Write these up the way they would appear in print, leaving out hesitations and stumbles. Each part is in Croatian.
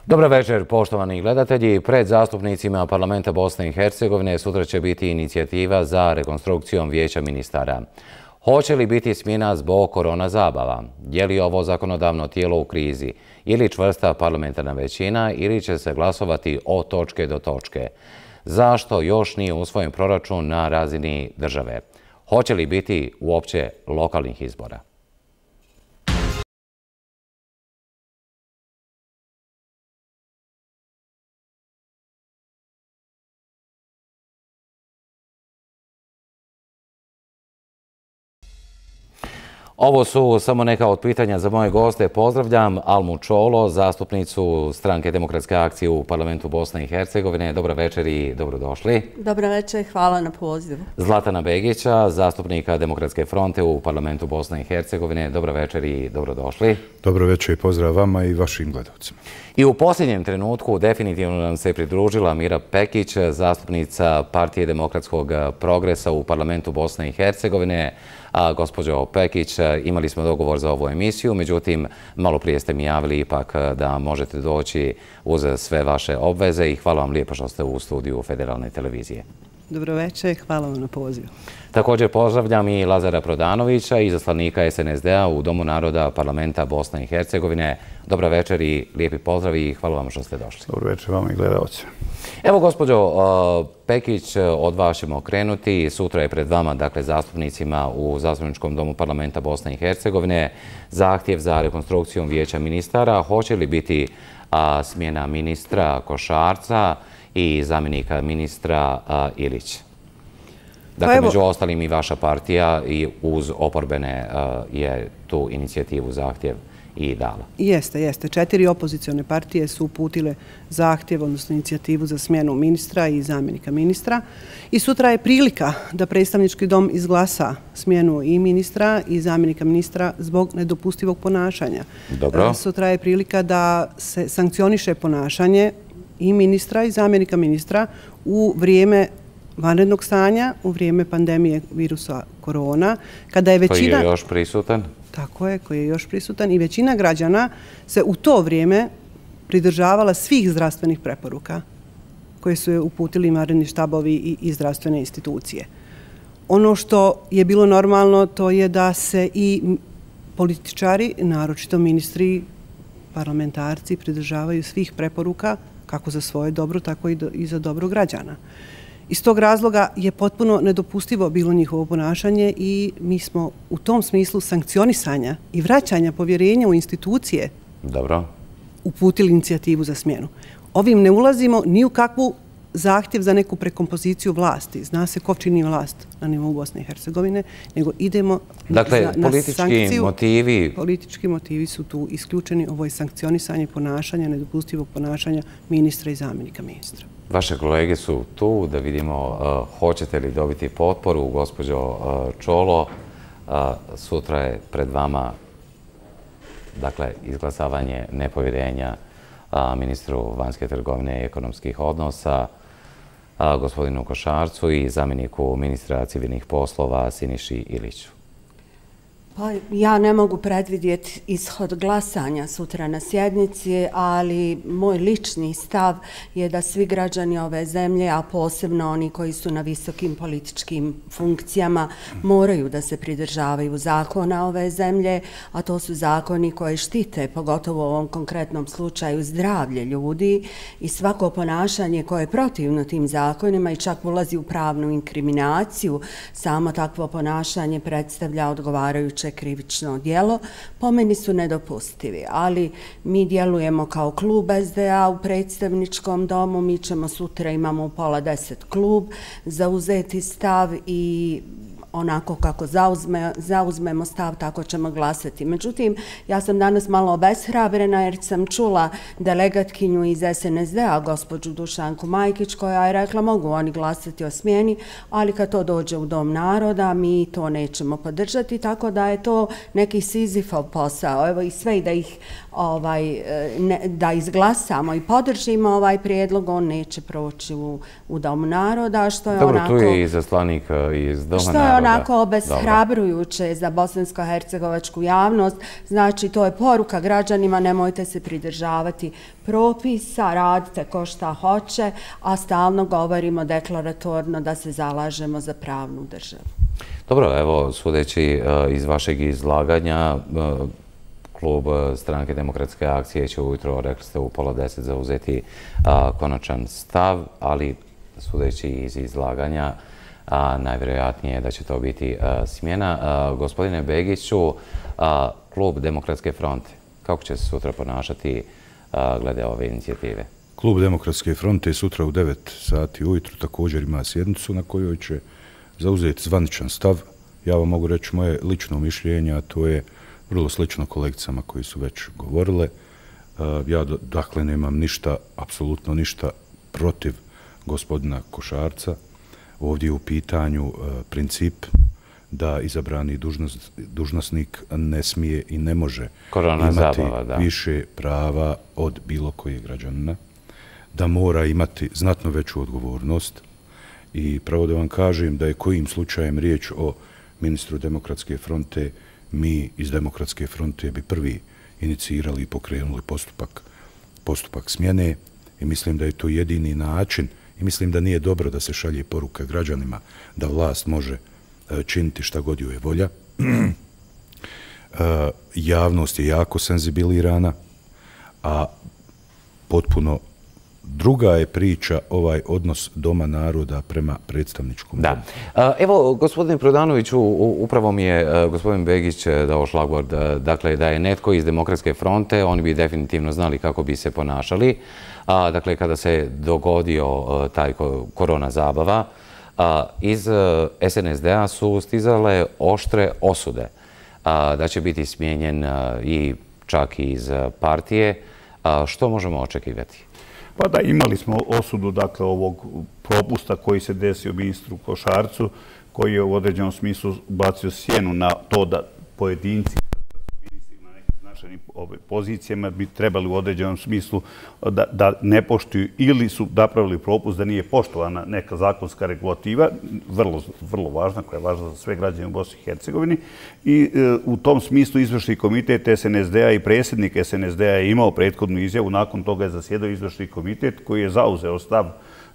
Dobar večer, poštovani gledatelji. Pred zastupnicima parlamenta Bosne i Hercegovine sutra će biti inicijativa za rekonstrukcijom vijeća ministara. Hoće li biti smjena zbog korona zabava? Je li ovo zakonodavno tijelo u krizi? Ili čvrsta parlamentarna većina ili će se glasovati od točke do točke? Zašto još nije usvojen proračun na razini države? Hoće li biti uopće lokalnih izbora? Ovo su samo neka od pitanja za moje goste. Pozdravljam Almu Čolo, zastupnicu Stranke demokratske akcije u parlamentu Bosne i Hercegovine. Dobra večer i dobrodošli. Dobra večer, hvala na pozivu. Zlatana Begića, zastupnika Demokratske fronte u parlamentu Bosne i Hercegovine. Dobra večer i dobrodošli. Dobro večer i pozdrav vama i vašim gledalcima. I u posljednjem trenutku definitivno nam se pridružila Mira Pekić, zastupnica Partije demokratskog progresa u parlamentu Bosne i Hercegovine. Gospođo Pekić, imali smo dogovor za ovu emisiju, međutim, malo prije ste mi javili ipak da možete doći uz sve vaše obveze i hvala vam lijepo što ste u studiju Federalne televizije. Dobro večer, hvala vam na pozivu. Također pozdravljam i Lazara Prodanovića, izaslanika SNSD-a u Domu naroda parlamenta Bosne i Hercegovine. Dobra večer i lijepi pozdrav i hvala vam što ste došli. Dobro večer vama i gledalci. Evo, gospođo Pekić, od vas ćemo krenuti. Sutra je pred vama, dakle, zastupnicima u Zastupničkom domu parlamenta Bosne i Hercegovine zahtjev za rekonstrukcijom vijeća ministara. Hoće li biti smjena ministra Košarca i zamjenika ministra Ilić? Dakle, među ostalim i vaša partija i uz oporbene je tu inicijativu zahtjev i dala. Jeste. 4 opozicione partije su uputile zahtjev, odnosno inicijativu za smjenu ministra i zamjenika ministra. I sutra je prilika da predstavnički dom izglasa smjenu i ministra i zamjenika ministra zbog nedopustivog ponašanja. Dobro. Sutra je prilika da se sankcioniše ponašanje i ministra i zamjenika ministra u vrijeme vanrednog stanja, u vrijeme pandemije virusa korona, kada je većina... Koji je još prisutan? Tako je, koji je još prisutan i većina građana se u to vrijeme pridržavala svih zdravstvenih preporuka koje su je uputili vanredni štabovi i zdravstvene institucije. Ono što je bilo normalno to je da se i političari, naročito ministri, parlamentarci, pridržavaju svih preporuka kako za svoje dobro, tako i za dobro građana. Iz tog razloga je potpuno nedopustivo bilo njihovo ponašanje i mi smo u tom smislu sankcionisanja i vraćanja povjerenja u institucije uputili inicijativu za smjenu. Ovim ne ulazimo ni u kakvu zahtjev za neku prekompoziciju vlasti. Zna se ko čini vlast na nivou Bosne i Hercegovine, nego idemo na sankciju. Politički motivi su tu isključeni. Ovo je sankcionisanje ponašanja, nedopustivog ponašanja ministra i zamjenika ministra. Vaše kolege su tu da vidimo hoćete li dobiti potporu. Gospođo Čolo, sutra je pred vama izglasavanje nepovjerenja ministru vanjske trgovine i ekonomskih odnosa, gospodinu Košarcu i zamjeniku ministra civilnih poslova Siniši Iliću. Pa ja ne mogu predvidjeti ishod glasanja sutra na sjednici, ali moj lični stav je da svi građani ove zemlje, a posebno oni koji su na visokim političkim funkcijama, moraju da se pridržavaju zakona ove zemlje, a to su zakoni koji štite, pogotovo u ovom konkretnom slučaju, zdravlje ljudi i svako ponašanje koje je protivno tim zakonima i čak ulazi u pravnu inkriminaciju, samo takvo ponašanje predstavlja odgovarajuće krivično djelo, po meni su nedopustivi. Ali mi djelujemo kao klub SDA u predstavničkom domu, mi ćemo sutra, imamo u 9:30 klub, zauzeti stav i onako kako zauzmemo stav, tako ćemo glasati. Međutim, ja sam danas malo obeshrabrena jer sam čula delegatkinju iz SNSD-a, gospođu Dušanku Majkić, koja je rekla mogu oni glasati o smjeni, ali kad to dođe u Dom naroda, mi to nećemo podržati, tako da je to neki Sizifov posao. Evo i sve da ih da izglasamo i podržimo ovaj prijedlog, on neće proći u Domu naroda, što je onako... Dobro, tu je izaslanik iz Doma naroda. onako obeshrabrujuće za bosansko-hercegovačku javnost. Znači, to je poruka građanima, nemojte se pridržavati propisa, radite ko šta hoće, a stalno govorimo deklaratorno da se zalažemo za pravnu državu. Dobro, evo, sudeći iz vašeg izlaganja, klub Stranke demokratske akcije će ujutro, rekli ste, u 9:30 zauzeti konačan stav, ali sudeći iz izlaganja, najvjerojatnije je da će to biti smjena. Gospodine Begiću, klub Demokratske fronte, kako će se sutra ponašati glede ove inicijative? Klub Demokratske fronte sutra u 9 sati ujutru također ima sjednicu na kojoj će zauzeti zvaničan stav. Ja vam mogu reći moje lično mišljenje, a to je vrlo slično kolegicama koji su već govorile. Ja dakle nemam ništa, apsolutno ništa protiv gospodina Košarca. Ovdje je u pitanju princip da izabrani dužnosnik ne smije i ne može imati više prava od bilo kojeg građanina, da mora imati znatno veću odgovornost. I pravo da vam kažem da je kojim slučajem riječ o ministru Demokratske fronte, mi iz Demokratske fronte bi prvi inicirali i pokrenuli postupak smjene i mislim da je to jedini način i mislim da nije dobro da se šalje poruka građanima da vlast može činiti šta god joj je volja. Javnost je jako senzibilirana, a potpuno druga je priča ovaj odnos Doma naroda prema predstavničkom domu. Evo, gospodine Prodanoviću, upravo mi je gospodin Begić dao šlagvord, dakle, da je netko iz Demokratske fronte, oni bi definitivno znali kako bi se ponašali. Dakle, kada se dogodio taj korona zabava, iz SNSD-a su stizale oštre osude da će biti smijenjen i čak iz partije. Što možemo očekivati? Pa da, imali smo osudu dakle ovog propusta koji se desio ministru Košarcu, koji je u određenom smislu bacio sjenu na to da pojedinci na nekim značajnim pozicijama bi trebali u određenom smislu da ne poštuju ili su napravili propust da nije poštovana neka zakonska regulativa, vrlo važna, koja je važna za sve građane u Bosni i Hercegovini. I u tom smislu izvršni komitet SNSD-a i predsjednik SNSD-a je imao prethodnu izjavu, nakon toga je zasjedao izvršni komitet koji je zauzeo stav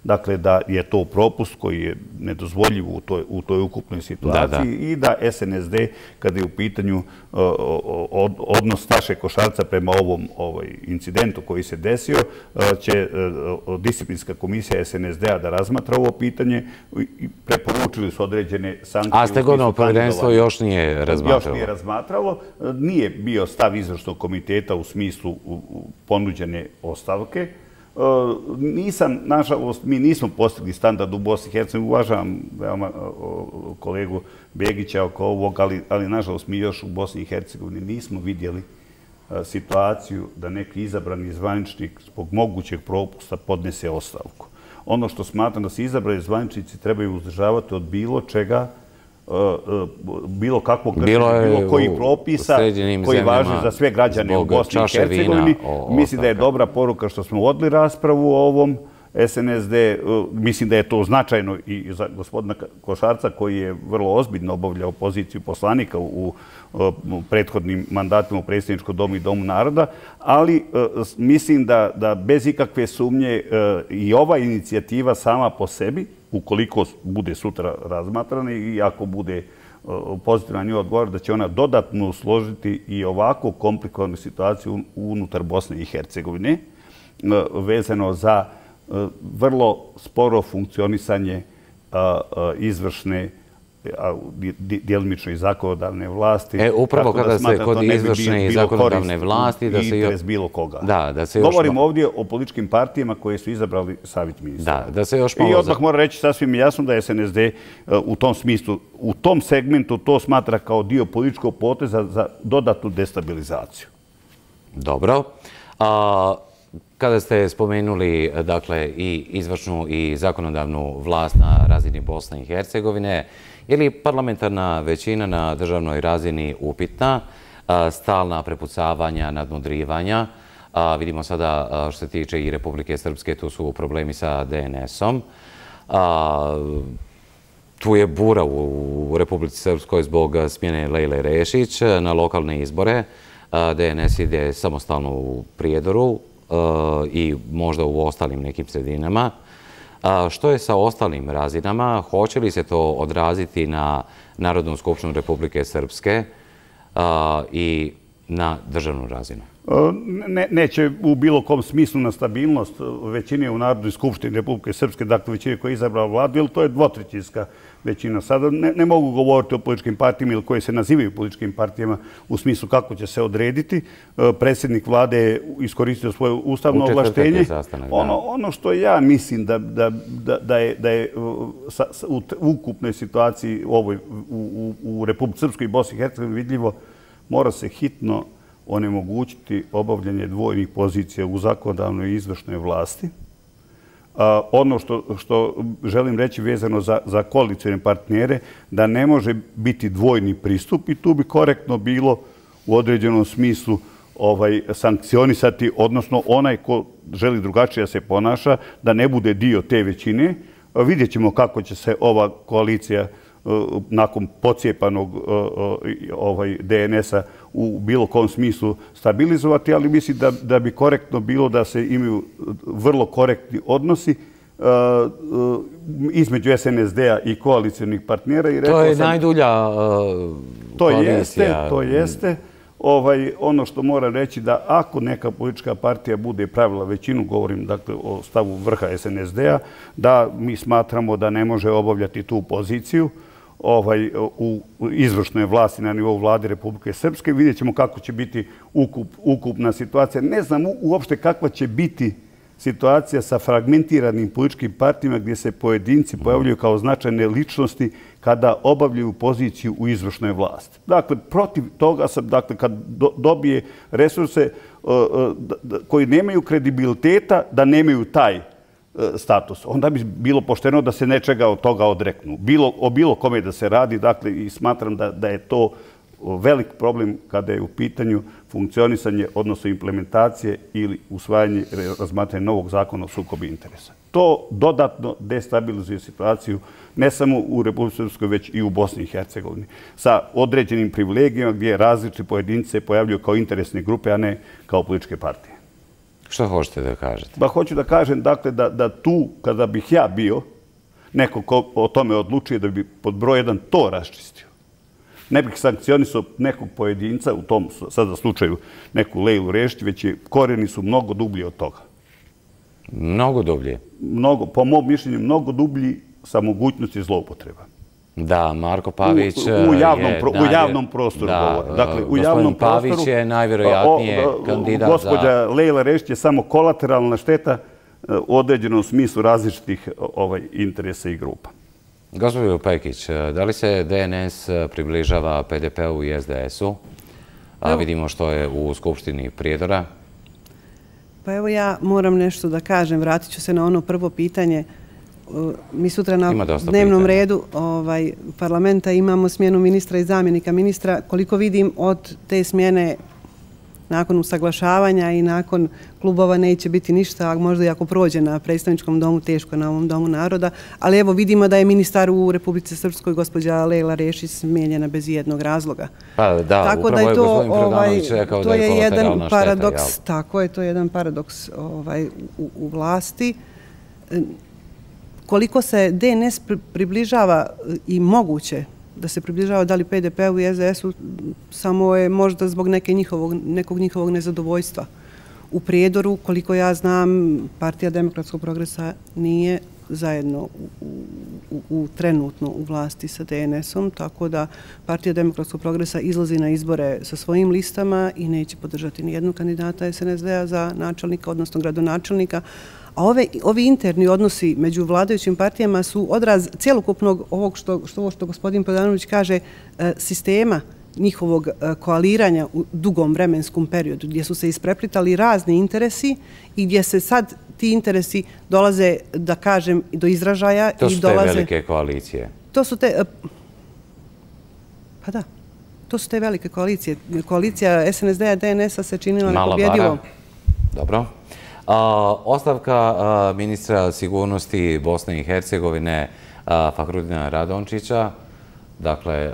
dakle da je to propust koji je nedozvoljiv u toj ukupnoj situaciji i da SNSD, kada je u pitanju odnos Staše Košarca prema ovom incidentu koji se desio, će disciplinska komisija SNSD-a da razmatra ovo pitanje i preporučili su određene sankcije. A stegovno povjerenstvo još nije razmatralo? Još nije razmatralo. Nije bio stav izvršnog komiteta u smislu ponuđene ostavke. Nažalost, mi nismo postigli standard u Bosni i Hercegovini. Uvažavam veoma kolegu Begića oko ovog, ali nažalost mi još u Bosni i Hercegovini nismo vidjeli situaciju da neki izabrani zvaničnik zbog mogućeg propusta podnese ostavku. Ono što smatram da se izabrani zvaničnici trebaju uzdržavati od bilo čega, bilo kakvog kršenja, bilo kojih propisa koji važe za sve građane u Bosni i Hercegovini. Mislim da je dobra poruka što smo vodili raspravu o ovom SNSD. Mislim da je to značajno i za gospodina Košarca koji je vrlo ozbiljno obavljao poziciju poslanika u prethodnim mandatima u Predsjedničkom domu i Domu naroda, ali mislim da bez ikakve sumnje i ova inicijativa sama po sebi, ukoliko bude sutra razmatrana i ako bude pozitivan nju odgovor, da će ona dodatno usložiti i ovako komplikovanu situaciju unutar Bosne i Hercegovine, vezano za vrlo sporo funkcionisanje izvršne, djelimično i zakonodavne vlasti. Upravo kada se kod izvršne i zakonodavne vlasti... I interes bilo koga. Govorim ovdje o političkim partijama koje su izabrali savjet ministra. I odmah moram reći sasvim jasno da je SNSD u tom smislu, u tom segmentu to smatra kao dio političkog poteza za dodatnu destabilizaciju. Dobro. Kada ste spomenuli dakle i izvršnu i zakonodavnu vlast na razini Bosne i Hercegovine, je li parlamentarna većina na državnoj razini upitna, stalna prepucavanja, nadmudrivanja? Vidimo sada što se tiče i Republike Srpske, tu su problemi sa DNS-om. Tu je bura u Republici Srpskoj zbog smjene Lejle Rešić na lokalne izbore. DNS ide samostalno u Prijedoru i možda u ostalim nekim sredinama. Što je sa ostalim razinama? Hoće li se to odraziti na Narodnu skupštinu Republike Srpske i na državnu razinu? Neće u bilo kom smislu na stabilnost većine u Narodnoj skupštini Republike Srpske, dakle većine koja je izabrala vladu, jer to je dvotrećinska većina. Sada ne mogu govoriti o političkim partijama ili koje se nazivaju političkim partijama u smislu kako će se odrediti. Predsjednik vlade je iskoristio svoje ustavno ovlaštenje. Ono što ja mislim da je u ukupnoj situaciji u Republike Srpskoj i Bosni i Hercegovini vidljivo, mora se hitno onemogućiti obavljanje dvojnih pozicija u zakonodavnoj i izvršnoj vlasti. Ono što želim reći vezano za koalicione partnere, da ne može biti dvojni pristup i tu bi korektno bilo u određenom smislu sankcionisati, odnosno onaj ko želi drugačije da se ponaša, da ne bude dio te većine. Vidjet ćemo kako će se ova koalicija nakon pocijepanog DNS-a u bilo kom smislu stabilizovati, ali mislim da bi korektno bilo da se imaju vrlo korektni odnosi između SNSD-a i koalicijonih partnera. To je najdulja koalicija. To jeste. Ono što moram reći da ako neka politička partija bude pravila većinu, govorim dakle o stavu vrha SNSD-a, da mi smatramo da ne može obavljati tu poziciju u izvršnoj vlasti na nivou vlade Republike Srpske. Vidjet ćemo kako će biti ukupna situacija. Ne znam uopšte kakva će biti situacija sa fragmentiranim političkim partijama gdje se pojedinci pojavljuju kao značajne ličnosti kada obavljaju poziciju u izvršnoj vlasti. Dakle, protiv toga sam, dakle, kad dobije resurse koji nemaju kredibiliteta, da nemaju taj status. Onda bi bilo pošteno da se nečega od toga odreknu. O bilo kome da se radi, dakle, i smatram da je to velik problem kada je u pitanju funkcionisanje, odnosno implementacije ili usvajanje, razmatranje novog zakona o sukobu interesa. To dodatno destabilizuje situaciju ne samo u Republici Srpskoj, već i u Bosni i Hercegovini, sa određenim privilegijama gdje različiti pojedinci se pojavljuju kao interesne grupe, a ne kao političke partije. Što hoćete da kažete? Pa hoću da kažem, dakle, da tu, kada bih ja bio, neko ko o tome odlučuje da bi pod broj 1 to raščistio. Ne bih sankcionisao nekog pojedinca, u tom sada slučaju neku Lejlu Rešić, već korijeni su mnogo dublji od toga. Mnogo dublji? Po mom mišljenju, mnogo dublji sa mogućnosti zloupotreba. Da, Marko Pavić u javnom prostoru govore. Dakle, u javnom prostoru Pavić je najvjerojatnije kandidat za... Gospođa Lejla Rešić je samo kolateralna šteta u određenom smislu različitih interesa i grupa. Gospođo Pekić, da li se DNS približava PDP-u i SDS-u? Vidimo što je u Skupštini Prijedora. Pa evo ja moram nešto da kažem. Vratit ću se na ono prvo pitanje. Mi sutra na dnevnom redu parlamenta imamo smjenu ministra i zamjenika ministra. Koliko vidim od te smjene nakon usaglašavanja i nakon klubova neće biti ništa, a možda i ako prođe na predstavničkom domu, teško na ovom domu naroda. Ali evo vidimo da je ministar u Republici Srpskoj, gospođa Lejla Rešić, smijenjena bez jednog razloga. Pa da, upravo je gospodin Predanović rekao da je kolateralna šteta. Tako je, to je jedan paradoks u vlasti. Koliko se DNS približava i moguće da se približava da li PDP-u i SDS-u, samo je možda zbog nekog njihovog nezadovoljstva. U Prijedoru, koliko ja znam, Partija demokratskog progresa nije zajedno trenutno u vlasti sa DNS-om, tako da Partija demokratskog progresa izlazi na izbore sa svojim listama i neće podržati nijednog kandidata SNSD-a za načelnika, odnosno gradonačelnika. A ovi interni odnosi među vladajućim partijama su odraz cijelokupnog ovog što gospodin Predanović kaže, sistema njihovog koaliranja u dugom vremenskom periodu, gdje su se ispreplitali razni interesi i gdje se sad ti interesi dolaze, da kažem, do izražaja. To su te velike koalicije. To su te... Pa da. To su te velike koalicije. Koalicija SNSD-a i DNS-a se činila nepobjedivom. Dobro. Ostavka ministra sigurnosti Bosne i Hercegovine Fahrudina Radončića. Dakle,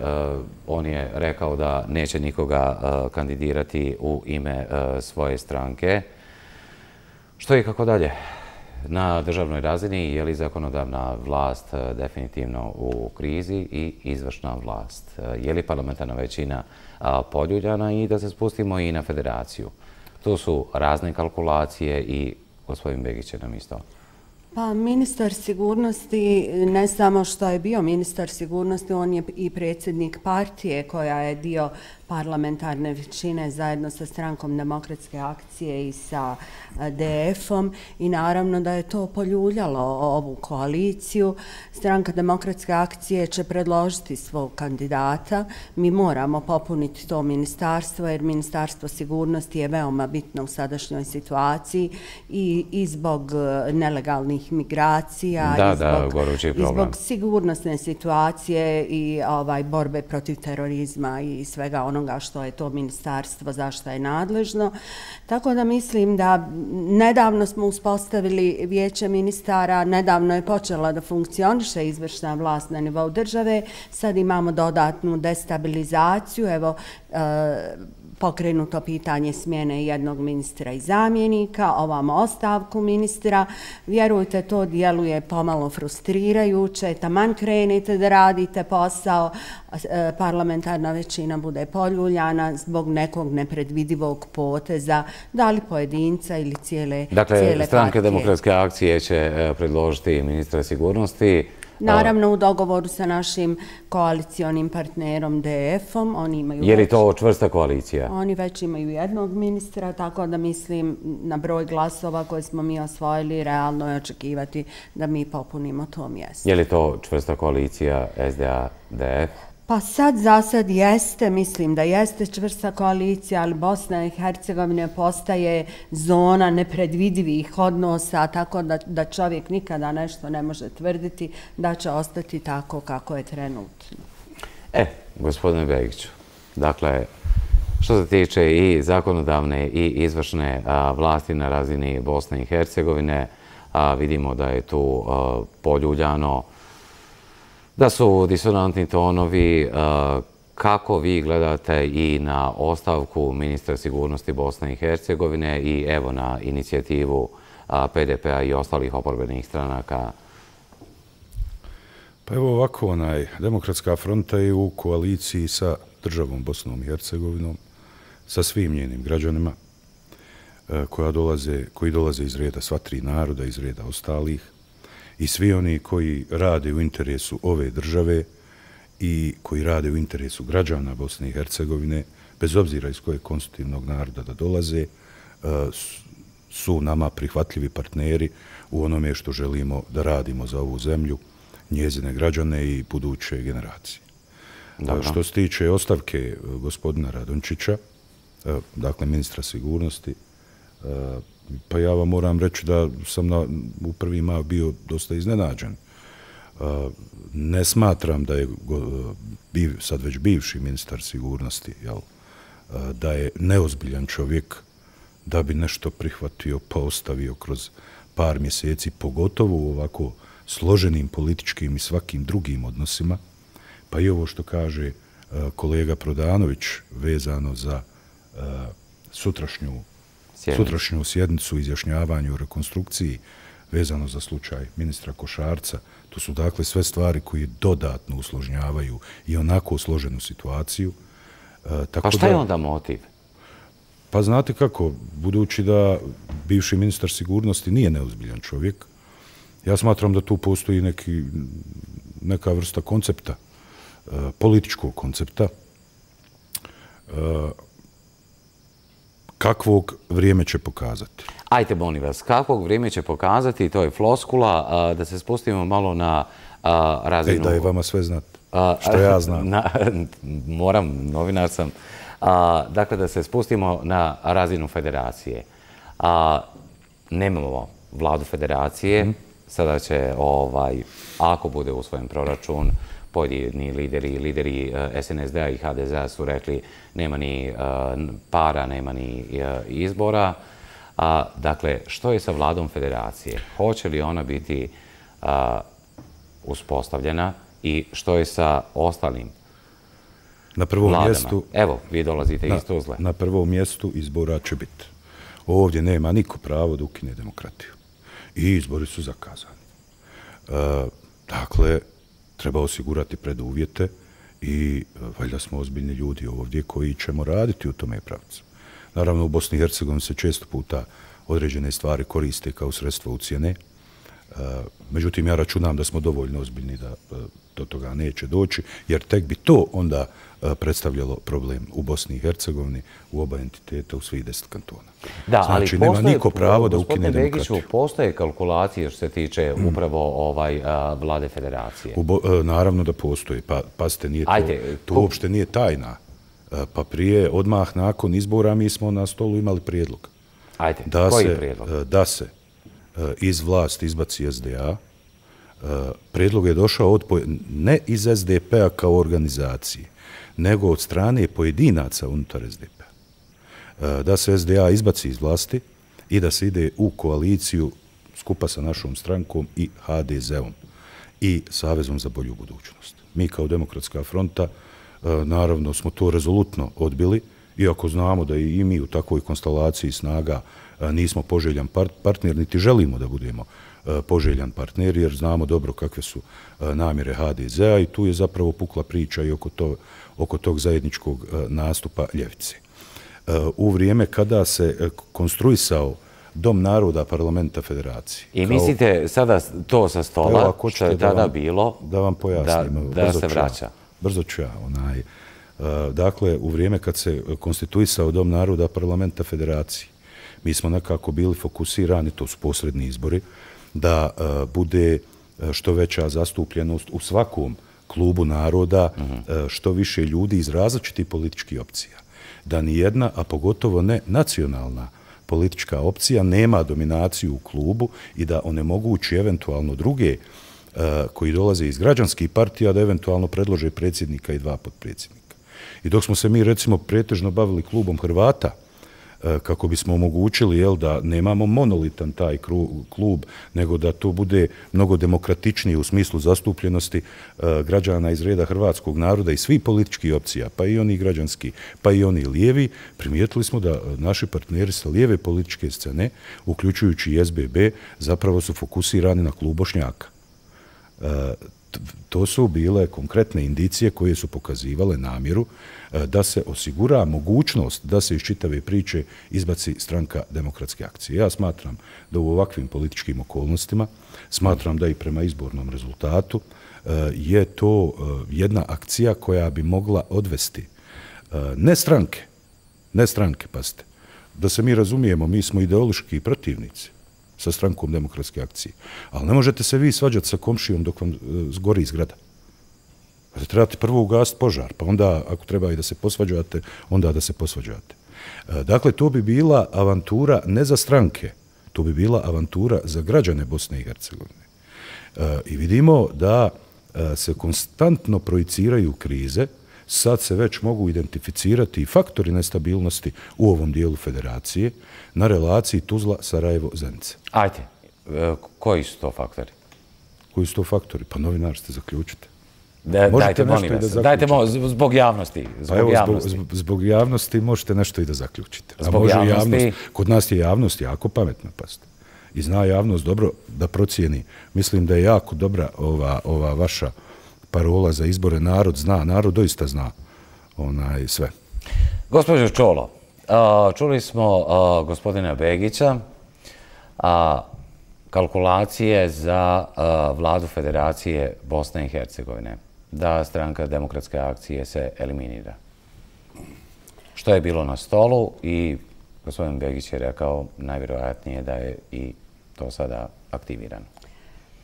on je rekao da neće nikoga kandidirati u ime svoje stranke. Što i kako dalje? Na državnoj razini je li zakonodavna vlast definitivno u krizi i izvršna vlast? Je li parlamentarna većina poljuljana i da se spustimo i na federaciju? Tu su razne kalkulacije i gospodin Begić je nam isto. Pa ministar sigurnosti, ne samo što je bio ministar sigurnosti, on je i predsjednik partije koja je dio parlamentarne većine zajedno sa Strankom demokratske akcije i sa DF-om i naravno da je to poljuljalo ovu koaliciju. Stranka demokratske akcije će predložiti svog kandidata. Mi moramo popuniti to ministarstvo jer ministarstvo sigurnosti je veoma bitno u sadašnjoj situaciji i zbog nelegalnih migracija i zbog sigurnosne situacije i borbe protiv terorizma i svega onoga što je to ministarstvo, zašto je nadležno. Tako da mislim da nedavno smo uspostavili vijeće ministara, nedavno je počela da funkcioniše izvršna vlast na nivou države, sad imamo dodatnu destabilizaciju, evo pokrenuto pitanje smjene jednog ministra i zamjenika, ovamo ostavku ministra. Vjerujte, to djeluje pomalo frustrirajuće. Taman krenete da radite posao, parlamentarna većina bude poljuljana zbog nekog nepredvidivog poteza, da li pojedinca ili cijele partije. Dakle, Stranke demokratske akcije će predložiti ministra sigurnosti. Naravno, u dogovoru sa našim koalicionim partnerom DF-om. Je li to čvrsta koalicija? Oni već imaju jednog ministra, tako da mislim na broj glasova koje smo mi osvojili, realno je očekivati da mi popunimo to mjesto. Je li to čvrsta koalicija SDA-DF? Pa sad za sad jeste, mislim da jeste čvrsta koalicija, ali Bosna i Hercegovina postaje zona nepredvidivih odnosa, tako da čovjek nikada nešto ne može tvrditi da će ostati tako kako je trenutno. Gospodine Begiću, dakle, što se tiče i zakonodavne i izvršne vlasti na razini Bosne i Hercegovine, vidimo da je tu poljuljano, da su disonantni tonovi. Kako vi gledate i na ostavku ministra sigurnosti Bosne i Hercegovine i evo na inicijativu PDP-a i ostalih oporbenih stranaka? Pa evo ovako, Demokratska fronta je u koaliciji sa državom Bosnom i Hercegovinom, sa svim njenim građanima koji dolaze iz reda sva tri naroda, iz reda ostalih, i svi oni koji rade u interesu ove države i koji rade u interesu građana Bosne i Hercegovine, bez obzira iz kojeg konstitutivnog naroda da dolaze, su nama prihvatljivi partneri u onome što želimo da radimo za ovu zemlju, njezine građane i buduće generacije. Što se tiče ostavke gospodina Radončića, dakle ministra sigurnosti, pa ja vam moram reći da sam u prvi mah bio dosta iznenađen. Ne smatram da je sad već bivši ministar sigurnosti, da je neozbiljan čovjek da bi nešto prihvatio pa ostavio kroz par mjeseci, pogotovo u ovako složenim političkim i svakim drugim odnosima. Pa i ovo što kaže kolega Prodanović vezano za sutrašnju sjednicu, izjašnjavanju, rekonstrukciji, vezano za slučaj ministra Košarca. To su dakle sve stvari koje dodatno usložnjavaju i onako složenu situaciju. Pa šta je onda motiv? Pa znate kako, budući da bivši ministar sigurnosti nije neozbiljan čovjek, ja smatram da tu postoji neka vrsta koncepta, političkog koncepta, kakvog vrijeme će pokazati. Ajte, molim vas, kakvog vrijeme će pokazati, to je floskula, da se spustimo malo na razinu... Da je vama sve znati, što ja znam. Moram, novinar sam. Dakle, da se spustimo na razinu federacije. Nemamo vladu federacije, sada će, ako bude usvojen proračun, pojedini lideri SNSD-a i HDZ-a su rekli nema ni para, nema ni izbora. Dakle, što je sa vladom federacije? Hoće li ona biti uspostavljena i što je sa ostalim Na prvom vladama? mjestu, Evo, vi dolazite iz Tuzle. na prvom mjestu izbora će biti. Ovdje nema niko pravo da ukine demokratiju. I izbori su zakazani. Dakle, treba osigurati preduvjete i valjda smo ozbiljni ljudi ovdje koji ćemo raditi u tome pravcu. Naravno, u Bosni i Hercegovini se često puta određene stvari koriste kao sredstvo ucjene. Međutim, ja računam da smo dovoljno ozbiljni da do toga neće doći, jer tek bi to onda predstavljalo problem u Bosni i Hercegovini, u oba entiteta, u svih 10 kantona. Da, znači, ali nema niko pravo da ukine demokratiju. Begiću, postoje kalkulacije što se tiče upravo vlade federacije? Naravno da postoji. Pazite, to uopšte nije tajna. Pa prije, odmah nakon izbora, mi smo na stolu imali prijedlog. Ajde, koji prijedlog? Da se iz vlasti izbaci SDA. Prijedlog je došao ne iz SDP-a kao organizacije, nego od strane pojedinaca unutar SDP-a. Da se SDA izbaci iz vlasti i da se ide u koaliciju skupa sa našom strankom i HDZ-om i Savezom za bolju budućnost. Mi kao Demokratska fronta naravno smo to rezolutno odbili, iako znamo da i mi u takvoj konstelaciji snaga nismo poželjan partner, niti želimo da budemo poželjan partner, jer znamo dobro kakve su namjere HDZ-a i tu je zapravo pukla priča i oko tog zajedničkog nastupa ljevice. U vrijeme kada se konstruisao Dom naroda parlamenta federacije. I mislite sada to sa stola, što je tada bilo, da vam pojasnim, da se vraća? Brzo ću ja. Dakle, u vrijeme kad se konstituisao Dom naroda parlamenta federacije, mi smo nekako bili fokusirani, to su posredni izbori, da bude što veća zastupljenost u svakom klubu naroda, što više ljudi iz različitih političkih opcija. Da ni jedna, a pogotovo ne nacionalna politička opcija nema dominaciju u klubu i da onemogući eventualno druge koji dolaze iz građanskih partija da eventualno predlože predsjednika i 2 potpredsjednika. I dok smo se mi recimo pretežno bavili klubom Hrvata, kako bismo omogućili da nemamo monolitan taj klub, nego da to bude mnogo demokratičnije u smislu zastupljenosti građana iz reda hrvatskog naroda i svih političkih opcija, pa i oni građanski, pa i oni lijevi, primijetili smo da naši partneri sa lijeve političke scene, uključujući i SBB, zapravo su fokusirani na klub Bošnjaka. To su bile konkretne indicije koje su pokazivale namjeru da se osigura mogućnost da se iz čitave priče izbaci stranka Demokratske akcije. Ja smatram da u ovakvim političkim okolnostima, smatram da i prema izbornom rezultatu je to jedna akcija koja bi mogla odvesti ne stranke, pazite, da se mi razumijemo, mi smo ideološki protivnici sa strankom Demokratske akcije. Ali ne možete se vi svađati sa komšijom dok vam zgori zgrada. Trebate prvo ugasiti požar, pa onda, ako treba i da se posvađate, onda da se posvađate. Dakle, to bi bila avantura ne za stranke, to bi bila avantura za građane Bosne i Hercegovine. I vidimo da se konstantno projiciraju krize, sad se već mogu identificirati i faktori nestabilnosti u ovom dijelu federacije na relaciji Tuzla-Sarajevo-Zenica. Ajde, koji su to faktori? Koji su to faktori? Pa novinar ste zaključite. Dajte, molim vas. Dajte, zbog javnosti. Zbog javnosti možete nešto i da zaključite. Zbog javnosti? Kod nas je javnost jako pametna, pazite. I zna javnost dobro da procijeni. Mislim da je jako dobra ova vaša parola za izbore. Narod zna, narod doista zna sve. Gospođo Čolo, čuli smo gospodina Begića, kalkulacije za vladu Federacije Bosne i Hercegovine, da stranka Demokratske akcije se eliminira. Što je bilo na stolu i gospodin Begić je rekao najvjerojatnije da je i to sada aktivirano.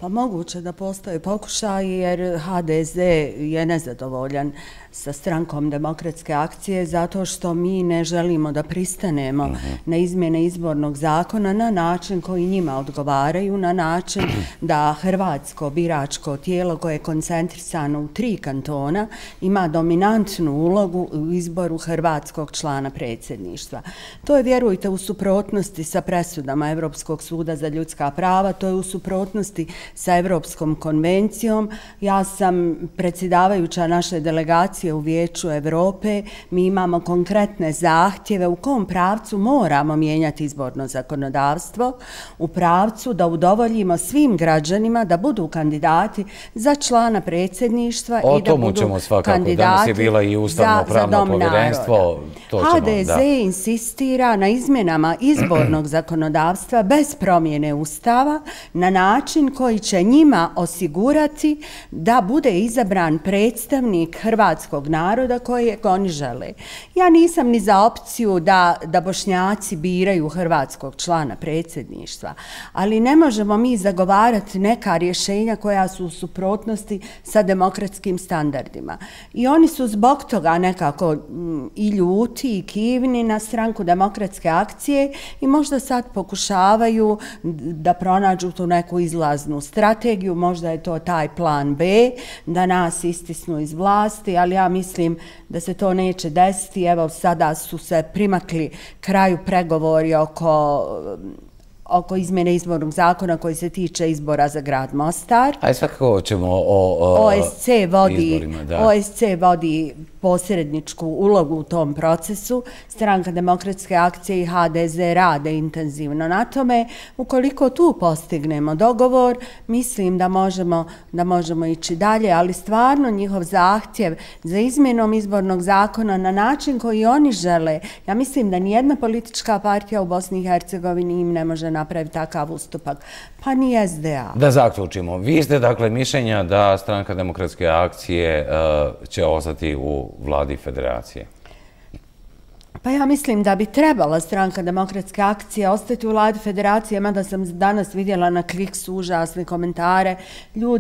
Pa moguće da postoje pokušaj jer HDZ je nezadovoljan sa strankom Demokratske akcije zato što mi ne želimo da pristanemo na izmjene izbornog zakona na način koji njima odgovaraju, na način da hrvatsko biračko tijelo koje je koncentrisano u 3 kantona ima dominantnu ulogu u izboru hrvatskog člana predsjedništva. To je, vjerujte, u suprotnosti sa presudama Europskog suda za ljudska prava, to je u suprotnosti sa Evropskom konvencijom. Ja sam predsjedavajuća naše delegacije u Vijeću Europe. Mi imamo konkretne zahtjeve u kom pravcu moramo mijenjati izborno zakonodavstvo, u pravcu da udovoljimo svim građanima da budu kandidati za člana predsjedništva i da budu kandidati danas je bila i ustavno-pravno povjerenstvo. HDZ insistira na izmjenama izbornog zakonodavstva bez promjene Ustava na način koji će njima osigurati da bude izabran predstavnik hrvatskog naroda kojeg oni žele. Ja nisam ni za opciju da Bošnjaci biraju hrvatskog člana predsjedništva, ali ne možemo mi zagovarati neka rješenja koja su u suprotnosti sa demokratskim standardima. I oni su zbog toga nekako i ljuti i kivni na Stranku demokratske akcije i možda sad pokušavaju da pronađu tu neku izlaznu strategiju, možda je to taj plan B, da nas istisnu iz vlasti, ali ja mislim da se to neće desiti. Evo sada su se primakli kraju pregovori oko izmjene izbornog zakona koji se tiče izbora za grad Mostar. A svakako ćemo o izborima, da. OSC vodi posredničku ulogu u tom procesu. Stranka demokratske akcije i HDZ rade intenzivno na tome. Ukoliko tu postignemo dogovor, mislim da možemo ići dalje, ali stvarno njihov zahtjev za izmjenom izbornog zakona na način koji oni žele, ja mislim da nijedna politička partija u Bosni i Hercegovini im ne može napraviti takav ustupak, pa ni SDA. Da zaključimo, vi ste dakle mišljenja da Stranka demokratske akcije će ostati u vladi federacije? Pa ja mislim da bi trebala Stranka demokratske akcije ostati u vladi federacije, mada sam danas vidjela na Kliksu užasne komentare.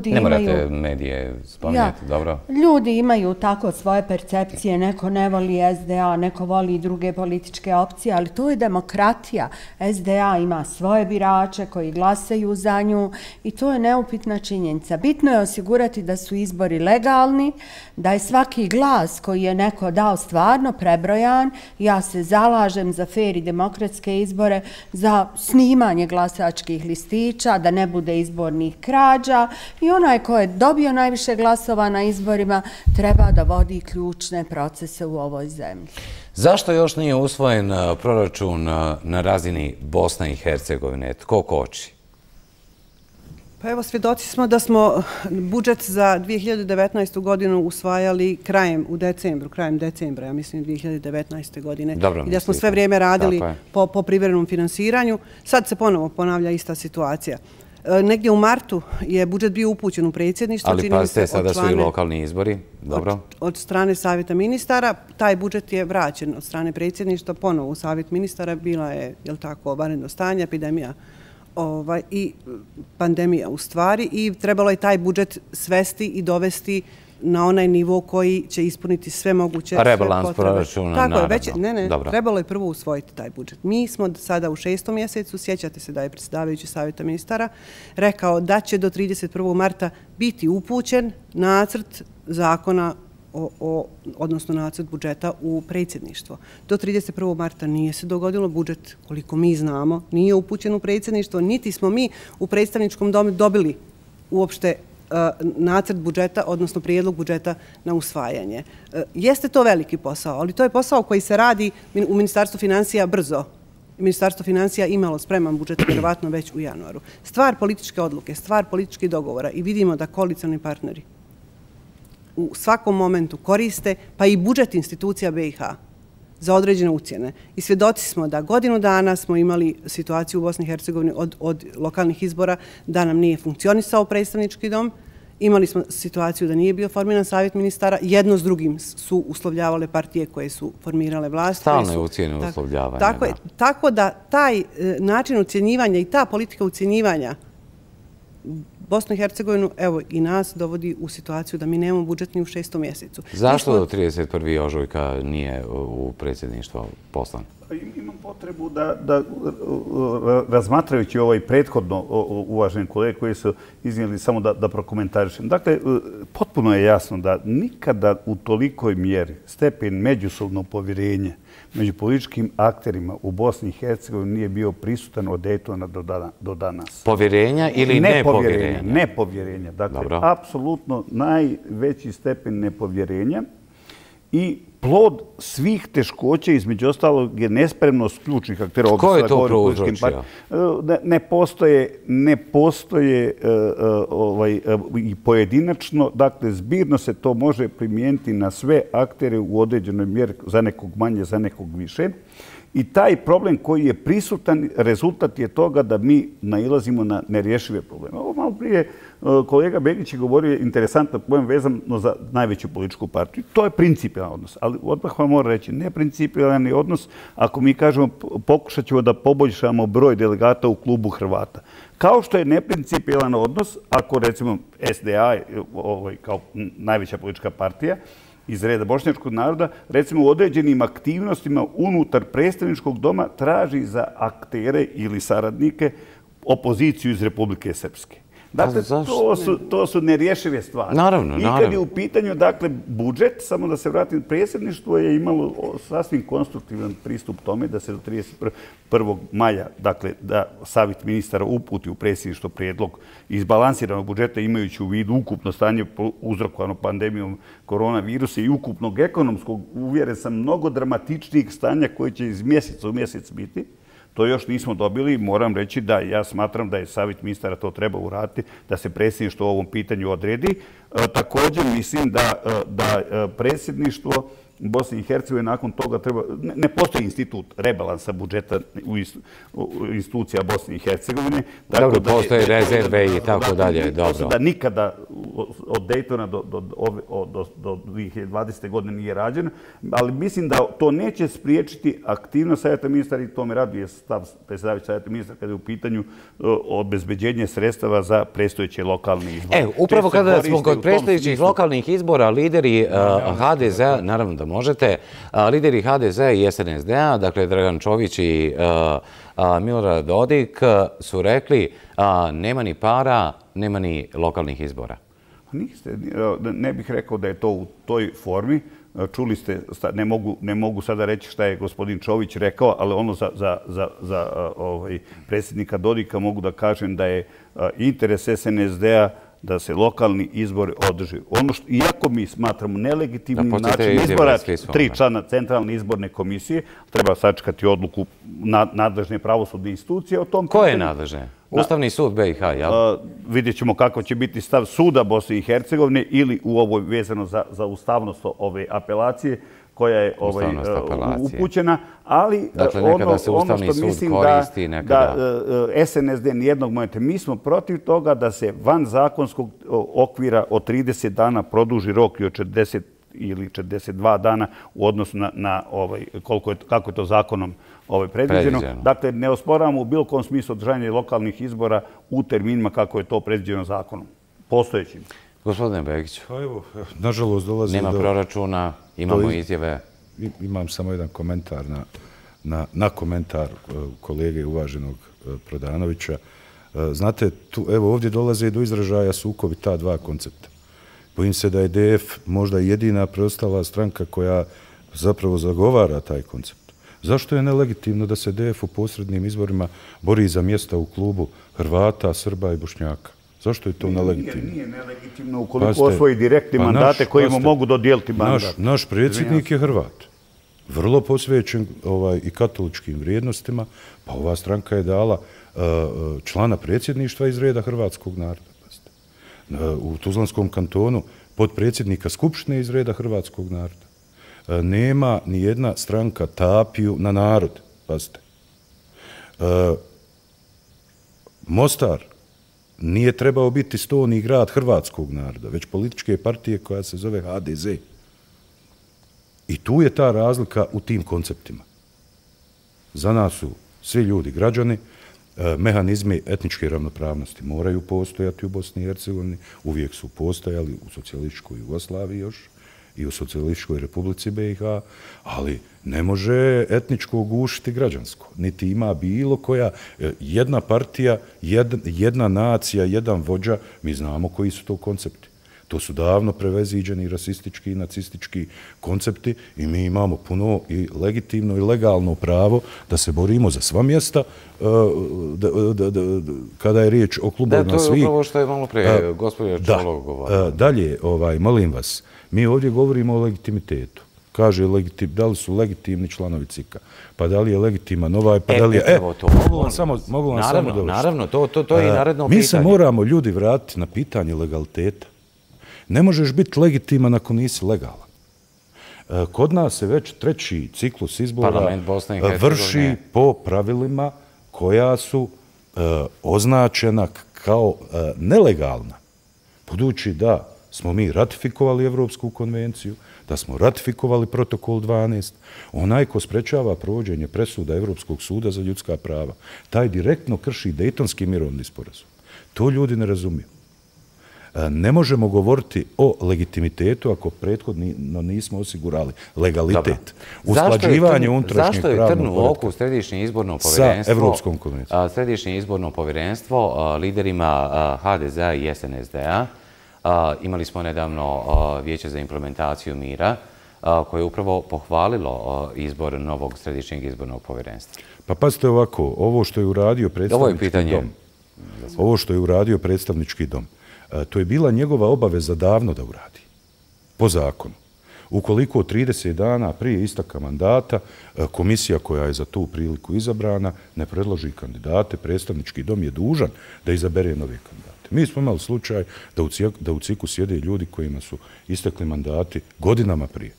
Ne morate medije spominjati, dobro? Ljudi imaju tako svoje percepcije, neko ne voli SDA, neko voli i druge političke opcije, ali to je demokratija. SDA ima svoje birače koji glasaju za nju i to je neupitna činjenica. Bitno je osigurati da su izbori legalni, da je svaki glas koji je neko dao stvarno prebrojan. Ja se zalažem za fer i demokratske izbore, za snimanje glasačkih listića, da ne bude izbornih krađa i onaj ko je dobio najviše glasova na izborima treba da vodi ključne procese u ovoj zemlji. Zašto još nije usvojen proračun na razini Bosne i Hercegovine? Tko koči? Pa evo, svjedoci smo da smo budžet za 2019. godinu usvajali krajem decembra, ja mislim 2019. godine. I da smo sve vrijeme radili po privremenom finansiranju. Sad se ponovo ponavlja ista situacija. Negdje u martu je budžet bio upućen u predsjedništvo. Ali pazite, sada su i lokalni izbori. Od strane Savjeta ministara. Taj budžet je vraćen od strane predsjedništva ponovo u Savjet ministara. Bila je, jel tako, vanredno stanje, epidemija i pandemija u stvari i trebalo je taj budžet svesti i dovesti na onaj nivo koji će ispuniti sve moguće potrebe. Rebalans proračuna, naravno. Trebalo je prvo usvojiti taj budžet. Mi smo sada u 6. mjesecu, sjećate se da je predsjedavajući Savjeta ministara rekao da će do 31. marta biti upućen nacrt zakona odnosno nacrt budžeta u predsjedništvo. Do 31. marta nije se dogodilo, budžet, koliko mi znamo, nije upućen u predsjedništvo, niti smo mi u predstavničkom domu dobili uopšte nacrt budžeta, odnosno prijedlog budžeta na usvajanje. Jeste to veliki posao, ali to je posao koji se radi u Ministarstvu financija brzo. Ministarstvo financija imalo spreman budžet vjerovatno već u januaru. Stvar političke odluke, stvar političkih dogovora i vidimo da koalicioni partneri u svakom momentu koriste, pa i budžet institucija BiH za određene ucjene. I svjedoci smo da godinu dana smo imali situaciju u Bosni i Hercegovini od lokalnih izbora da nam nije funkcionisao predstavnički dom. Imali smo situaciju da nije bio formiran Savjet ministara. Jedno s drugim su uslovljavale partije koje su formirale vlast. Stalne ucjene uslovljavanja. Tako da taj način ucjenjivanja i ta politika ucjenjivanja Bosnu i Hercegovinu, evo i nas, dovodi u situaciju da mi nemamo budžet ni u 6. mjesecu. Zašto do 31. ožujka nije u predsjedništvo poslan? Imam potrebu da razmatrajući ovaj prethodno uvaženi kolege koji su iznijeli samo da prokomentarišem. Dakle, potpuno je jasno da nikada u tolikoj mjeri stepen međusobnog povjerenja među političkim akterima u Bosni i Hercegovini nije bio prisutan od Daytona do danas. Povjerenja ili nepovjerenja? Nepovjerenja. Dakle, apsolutno najveći stepen nepovjerenja i plod svih teškoća, između ostalog, je nespremnost ključnih aktera. Ko je to prouzročio? Ne postoje i pojedinačno, dakle, zbirno se to može primijeniti na sve aktere u određenoj mjeri, za nekog manje, za nekog više. I taj problem koji je prisutan, rezultat je toga da mi nailazimo na nerješive probleme. Ovo malo prije kolega Begić je govorio interesantan pojem vezano za najveću političku partiju. To je principijalan odnos, ali odmah vam moram reći, neprincipijalan je odnos ako mi kažemo pokušat ćemo da poboljšamo broj delegata u klubu Hrvata. Kao što je neprincipijalan odnos ako recimo SDA kao najveća politička partija iz reda bošnjačkog naroda, recimo u određenim aktivnostima unutar predstavničkog doma traži za aktere ili saradnike opoziciju iz Republike Srpske. Dakle, to su nerješive stvari. Naravno. I kad je u pitanju, dakle, budžet, samo da se vratim, predsjedništvo je imalo sasvim konstruktivan pristup tome da se do 31. maja, dakle, da savjet ministara uputi u predsjedništvo prijedlog izbalansiranog budžeta imajući u vidu ukupno stanje uzrokovano pandemijom koronavirusa i ukupnog ekonomskog, uvjeren sam, mnogo dramatičnijih stanja koje će iz mjeseca u mjesec biti. To još nismo dobili i moram reći da ja smatram da je savjet ministara to treba uraditi, da se predsjedništvo o ovom pitanju odredi. Također mislim da predsjedništvo Bosne i Hercegovine nakon toga treba... Ne postoji institut rebalansa budžeta u institucija Bosne i Hercegovine. Dobro, postoje rezerve i tako dalje. Da nikada od Daytona do 2020. godine nije rađeno, ali mislim da to neće spriječiti aktivnost savjeta ministara i to me raduje stav predsjedavajućeg savjeta ministara kada je u pitanju obezbeđenje sredstava za predstojeće lokalne izbore. Upravo kada smo kod predstojećih lokalnih izbora, lideri HDZ-a, naravno da možete, lideri HDZ-a i SNSD-a, dakle Dragan Čović i Milorad Dodik, su rekli nema ni para, nema ni lokalnih izbora. Ne bih rekao da je to u toj formi. Čuli ste, ne mogu sada reći šta je gospodin Čović rekao, ali ono za predsjednika Dodika mogu da kažem da je interes SNSD-a da se lokalni izbori održi. Iako mi smatramo nelegitimnim način izbora 3 člana Centralne izborne komisije, treba sačekati odluku nadležne pravosudne institucije o tom pitanju. Ko je nadležne? Ustavni sud BiH, jel? Vidjet ćemo kako će biti stav suda Bosne i Hercegovine ili u ovoj vezano za ustavnost ove apelacije koja je upućena, ali ono što mislim da SNSD nijednog momenta, mi smo protiv toga da se van zakonskog okvira od 30 dana produži rok i od 40 ili 42 dana u odnosu na kako je to zakonom predviđeno. Dakle, ne osporavamo u bilo kom smislu održanje lokalnih izbora u terminima kako je to predviđeno zakonom, postojećim. Gospodine Begiću, nažalost dolazi nema proračuna, imamo izjave. Imam samo jedan komentar na komentar kolege uvaženog Prodanovića. Znate, evo ovdje dolaze do izražaja sukobi ta dva koncepta. Bojim se da je DF možda jedina preostala stranka koja zapravo zagovara taj koncept. Zašto je nelegitimno da se DF u posrednim izborima bori za mjesta u klubu Hrvata, Srba i Bošnjaka? Zašto je to nelegitimno? Nije nelegitimno ukoliko osvoji direktni mandate kojima mogu dodijeliti mandat. Naš predsjednik je Hrvat. Vrlo posvećen i katoličkim vrijednostima, pa ova stranka je dala člana predsjedništva iz reda hrvatskog naroda. U Tuzlanskom kantonu potpredsjednika Skupštine iz reda hrvatskog naroda. Nema ni jedna stranka tapiju na narod. Pazite. Mostar nije trebao biti stoni grad hrvatskog naroda, već političke partije koja se zove HDZ. I tu je ta razlika u tim konceptima. Za nas su svi ljudi građani, mehanizmi etničke ravnopravnosti moraju postojati u Bosni i Hercegovini, uvijek su postojali u socijalističkoj Jugoslaviji još i u socijalističkoj Republici BiH, ali ne može etničko gušiti građansko. Niti ima bilo koja jedna partija, jedna nacija, jedan vođa, mi znamo koji su to koncepti. To su davno preveziđeni rasistički i nacistički koncepti i mi imamo puno i legitimno i legalno pravo da se borimo za sva mjesta kada je riječ o klubovima svih. Da, to je upravo što je malo prije gospođa Čolog govorila. Dalje, molim vas, mi ovdje govorimo o legitimitetu. Kaže, da li su legitimni članovi CIK-a, pa da li je legitiman ovaj, pa da li je... Mogu vam samo dovršiti. Naravno, to je i naredno pitanje. Mi se moramo ljudi vratiti na pitanje legaliteta. Ne možeš biti legitiman ako nisi legalan. Kod nas se već treći ciklus izbora vrši po pravilima koja su označena kao nelegalna. Budući da smo mi ratifikovali Evropsku konvenciju, da smo ratifikovali protokol 12, onaj ko sprečava provođenje presuda Evropskog suda za ljudska prava, taj direktno krši Dejtonski mirovni sporazum. To ljudi ne razumiju. Ne možemo govoriti o legitimitetu ako prethodno nismo osigurali legalitet. Usklađivanje unutrašnjeg pravnog poretka. Zašto je trn u oku Središnje izborno povjerenstvo sa Evropskom konvencijom? Središnje izborno povjerenstvo liderima HDZ-a i SNSD-a? Imali smo nedavno Vijeće za implementaciju mira koje je upravo pohvalilo izbor novog Središnjeg izbornog povjerenstva. Pa pazite ovako, ovo što je uradio predstavnički dom, to je bila njegova obaveza davno da uradi, po zakonu. Ukoliko 30 dana prije istaka mandata komisija koja je za tu priliku izabrana ne predloži kandidate, predstavnički dom je dužan da izabere nove kandidate. Mi smo imali slučaj da u CIK-u sjede ljudi kojima su istekli mandati godinama prije.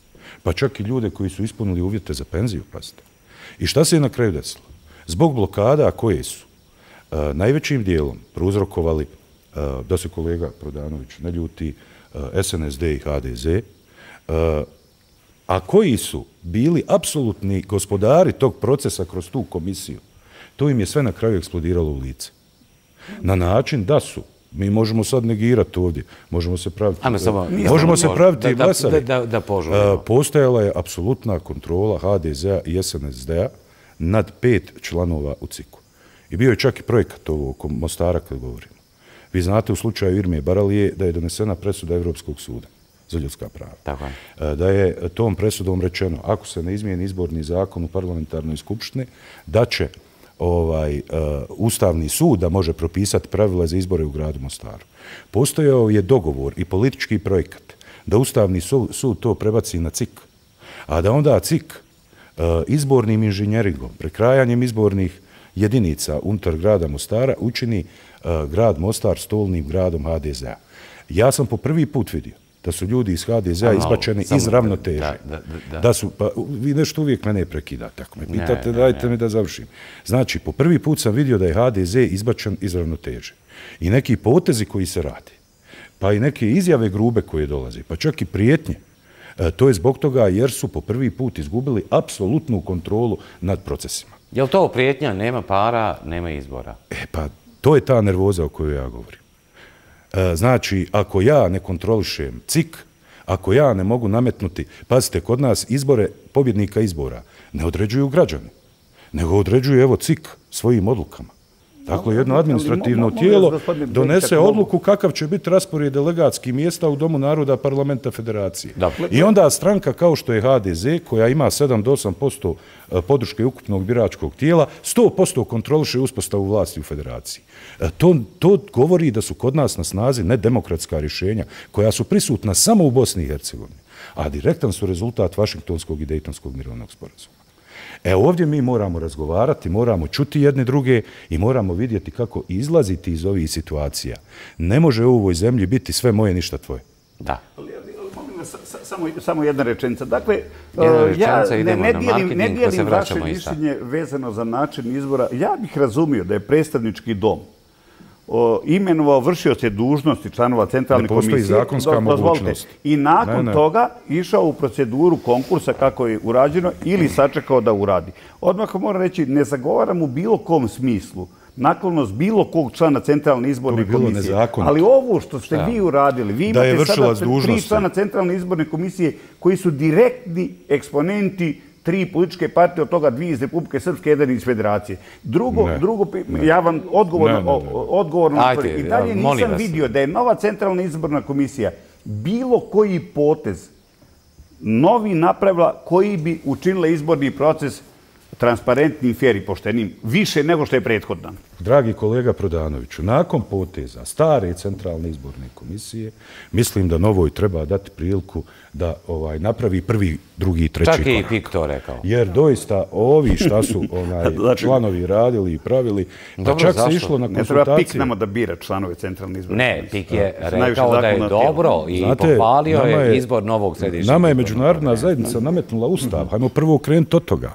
Pa čak i ljude koji su ispunili uvjete za penziju, pazite. I šta se je na kraju desilo? Zbog blokada koje su najvećim dijelom prouzrokovali, da se kolega Prodanović ne ljuti, SNSD i HDZ, a koji su bili apsolutni gospodari tog procesa kroz tu komisiju, to im je sve na kraju eksplodiralo u lice. Na način da su, mi možemo sad negirati ovdje, možemo se praviti glasavi. Postojala je apsolutna kontrola HDZ-a i SNSD-a nad 5 članova u CIK-u. I bio je čak i projekat ovog Mostara kad govorimo. Vi znate u slučaju Irmije Baralije da je donesena presuda Evropskog suda za ljudska prava. Da je tom presudom rečeno, ako se ne izmijeni izborni zakon u parlamentarnoj skupštini, da će Ustavni sud da može propisati pravila za izbore u gradu Mostaru. Postojao je dogovor i politički projekat da Ustavni sud to prebaci na CIK, a da onda CIK izbornim inženjeringom, prekrajanjem izbornih jedinica unutar grada Mostara učini grad Mostar stolnim gradom HDZ-a. Ja sam po prvi put vidio da su ljudi iz HDZ-a izbačeni iz ravnoteže. Vi nešto uvijek mene prekidate. Ako me pitate, dajte mi da završim. Znači, po prvi put sam vidio da je HDZ izbačen iz ravnoteže. I neki potezi koji se radi, pa i neke izjave grube koje dolaze, pa čak i prijetnje, to je zbog toga jer su po prvi put izgubili apsolutnu kontrolu nad procesima. Je li to prijetnja? Nema para, nema izbora. Pa to je ta nervoza o kojoj ja govorim. Znači, ako ja ne kontrolišem CIK, ako ja ne mogu nametnuti, pazite, kod nas izbore, pobjednika izbora, ne određuju građani, nego određuju, evo, CIK svojim odlukama. Dakle, jedno administrativno tijelo donese odluku kakav će biti raspored delegatskih mjesta u Domu naroda Parlamenta Federacije. I onda stranka kao što je HDZ, koja ima 7 do 8% podrške ukupnog biračkog tijela, 100% kontroliše uspostavu vlasti u Federaciji. To govori da su kod nas na snazi nedemokratska rješenja koja su prisutna samo u Bosni i Hercegovini, a direktan su rezultat Vašingtonskog i Dejtonskog mirovnog sporazuma. Ovdje mi moramo razgovarati, moramo čuti jedne druge i moramo vidjeti kako izlaziti iz ovih situacija. Ne može u ovoj zemlji biti sve moje, ništa tvoje. Da. Samo jedna rečenica. Dakle, ja ne dijelim vaše mišljenje vezano za način izbora. Ja bih razumio da je predstavnički dom imenovao vršioce dužnosti članova centralne komisije. Ne postoji zakonska mogućnost. I nakon toga išao u proceduru konkursa kako je urađeno ili sačekao da uradi. Odmah moram reći, ne zagovaram u bilo kom smislu naklonost bilo kog člana centralne izborne komisije. Ali ovo što ste vi uradili, vi imate sada 3 člana centralne izborne komisije koji su direktni eksponenti 3 političke partije, od toga 2 iz Republike Srpske, 1 iz Federacije. Drugo, ja vam odgovorno i dalje nisam vidio da je nova centralna izborna komisija bilo koji potez novi napravila koji bi učinila izborni proces transparentnim, fer i poštenim, više nego što je prethodna. Dragi kolega Prodanoviću, nakon poteza stare centralne izborne komisije, mislim da novoj treba dati priliku da napravi prvi, drugi, treći korak. Čak i PIK to rekao. Jer doista ovi šta su članovi radili i pravili, pa čak se išlo na konsultacije. Ne treba PIK nama da bira članove centralne izborne komisije. Ne, PIK je rekao da je dobro i pohvalio je izbor novog središnjeg. Nama je međunarodna zajednica nametnula ustav. Hajmo prvo krenuti od toga.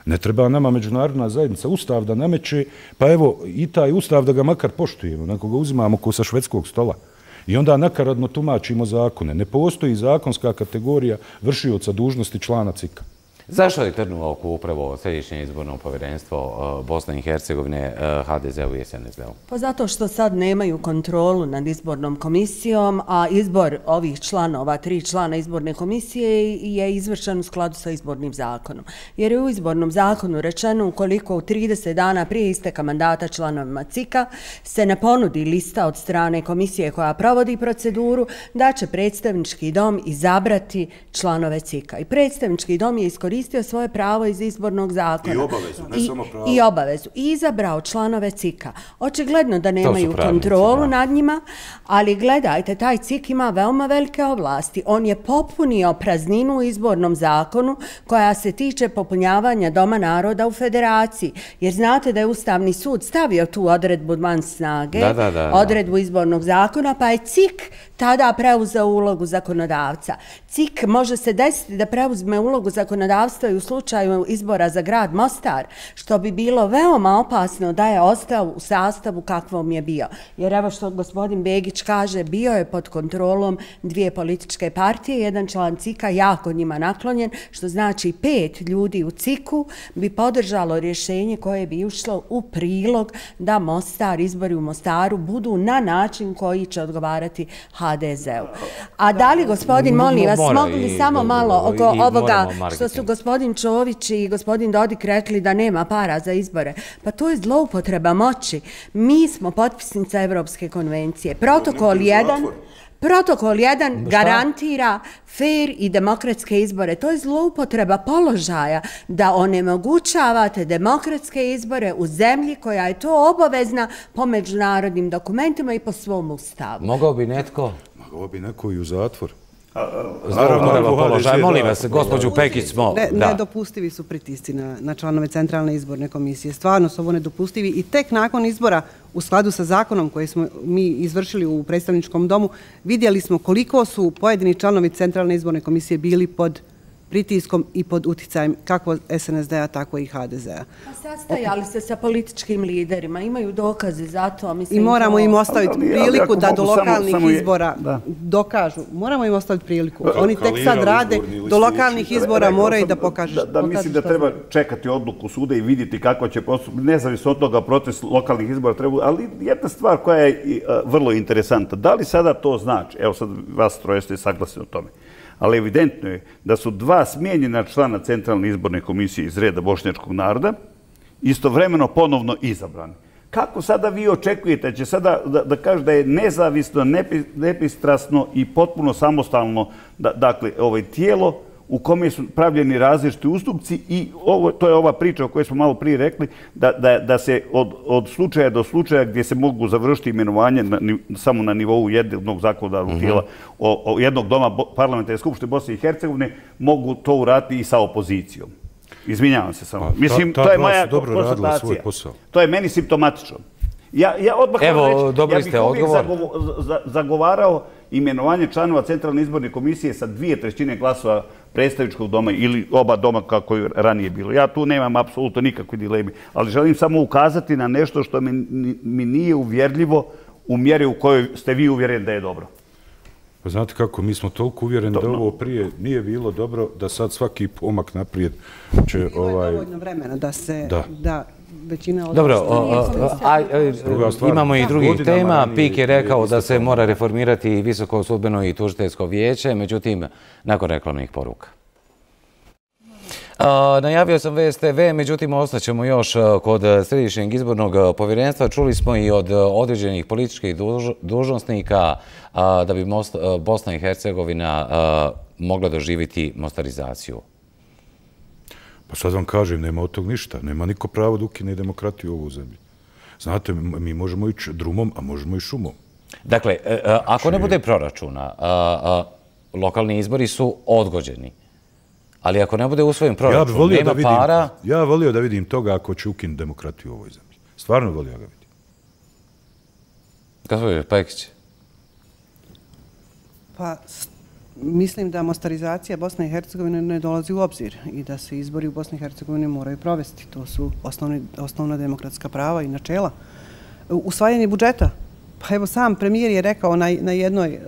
Ne treba nama međunarodna zajednica ustav da nameće, pa evo i taj ustav da ga makar poštujemo, nakon ga uzimamo ko sa švedskog stola. I onda nakaradno tumačimo zakone. Ne postoji zakonska kategorija vršioca dužnosti člana CIK-a. Zašto je trnuo oko upravo Središnje izborno povjerenstvo Bosne i Hercegovine, HDZ-u i SNSD-u? Pa zato što sad nemaju kontrolu nad izbornom komisijom, a izbor ovih članova, 3 člana izborne komisije je izvršen u skladu sa izbornim zakonom. Jer je u izbornom zakonu rečeno ukoliko u 30 dana prije isteka mandata članovima CIK-a se ne ponudi lista od strane komisije koja provodi proceduru, da će predstavnički dom izabrati članove CIK-a. I predstavnički dom je iskoristio svoje pravo iz izbornog zakona. I obavezu, ne samo pravo. I obavezu. I izabrao članove CIK-a. Očigledno da nemaju kontrolu nad njima, ali gledajte, taj CIK ima veoma velike ovlasti. On je popunio prazninu u izbornom zakonu koja se tiče popunjavanja Doma naroda u federaciji. Jer znate da je Ustavni sud stavio tu odredbu van snage, odredbu izbornog zakona, pa je CIK tada preuzeo ulogu zakonodavca. CIK može se desiti da preuzme ulogu zakonodavstva i u slučaju izbora za grad Mostar, što bi bilo veoma opasno da je ostao u sastavu kakvom je bio. Jer evo što gospodin Begić kaže, bio je pod kontrolom 2 političke partije, jedan član CIK-a jako njima naklonjen, što znači 5 ljudi u CIK-u bi podržalo rješenje koje bi ušlo u prilog da Mostar, izbori u Mostaru budu na način koji će odgovarati HDZ-u. A da li gospodin, molim vas, mogu li samo malo oko ovoga što su gospodin Čović i gospodin Dodik rekli da nema para za izbore? Pa to je zloupotreba moći. Mi smo potpisnica Evropske konvencije. Protokol 1 garantira fer i demokratske izbore. To je zloupotreba položaja da onemogućavate demokratske izbore u zemlji koja je to obavezna po međunarodnim dokumentima i po svom ustavu. Mogao bi netko? Mogao bi neko i u zatvor. Zloupotreba položaja. Molim vas, gospođu Pekić smo... Nedopustivi su pritisci na članove Centralne izborne komisije. Stvarno su ovo nedopustivi i tek nakon izbora u skladu sa zakonom koji smo mi izvršili u predstavničkom domu vidjeli smo koliko su pojedini članovi Centralne izborne komisije bili pod pritiskom i pod uticajem kako SNSD-a, tako i HDZ-a. Sastajali se sa političkim liderima, imaju dokaze za to. I moramo im ostaviti priliku da do lokalnih izbora dokažu. Moramo im ostaviti priliku. Oni tek sad rade, do lokalnih izbora moraju da pokažu. Da mislim da treba čekati odluku suda i vidjeti kako će postupiti, nezavisno od toga proces lokalnih izbora treba, ali jedna stvar koja je vrlo interesantna. Da li sada to znači, evo sad vas troje ste saglasni o tome, ali evidentno je da su 2 smijenjena člana Centralne izborne komisije iz reda bošnjačkog naroda istovremeno ponovno izabrani. Kako sada vi očekujete da će sada da kaže da je nezavisno, nepristrasno i potpuno samostalno dakle, tijelo u kome su pravljeni različiti ustupci i to je ova priča o kojoj smo malo prije rekli, da se od slučaja do slučaja gdje se mogu završiti imenovanje samo na nivou jednog zakonodavnog tijela, jednog doma parlamentarne skupštine Bosne i Hercegovine, mogu to uraditi i sa opozicijom. Izvinjavam se samo. Mislim, to je moja konstatacija. To je meni simptomatično. Ja odmah dobili ste odgovor. Zagovarao imenovanje članova Centralne izborne komisije sa 2/3 glasova predstavničkog doma ili oba doma kako je ranije bilo. Ja tu nemam apsolutno nikakve dileme, ali želim samo ukazati na nešto što mi nije uvjerljivo u mjeri u kojoj ste vi uvjereni da je dobro. Pa znate kako, mi smo toliko uvjereni da ovo prije nije bilo dobro, da sad svaki pomak naprijed će... Bilo je dovoljno vremena da se... Dobro, imamo i drugih tema. PIK je rekao da se mora reformirati Visoko sudbeno i tužiteljsko vijeće, međutim, nakon reklamnih poruka. Najavio sam VSTV, međutim ostaćemo još kod Središnjeg izbornog povjerenstva. Čuli smo i od određenih političkih dužnosnika da bi Bosna i Hercegovina mogla doživjeti mostarizaciju. Pa sad vam kažem, nema od tog ništa. Nema niko pravo da ukine demokratiju u ovu zemlji. Znate, mi možemo ići drumom, a možemo i šumom. Dakle, ako ne bude proračuna, lokalni izbori su odgođeni. Ali ako ne bude usvojen proračun, nema para... Ja bih volio da vidim toga ako će ukinuti demokratiju u ovoj zemlji. Stvarno volio ga vidim. Gospodin Pekić? Pa, mislim da mostarizacija Bosne i Hercegovine ne dolazi u obzir i da se izbori u Bosni i Hercegovini moraju provesti. To su osnovna demokratska prava i načela. Usvajanje budžeta. Pa evo sam premijer je rekao na jednoj,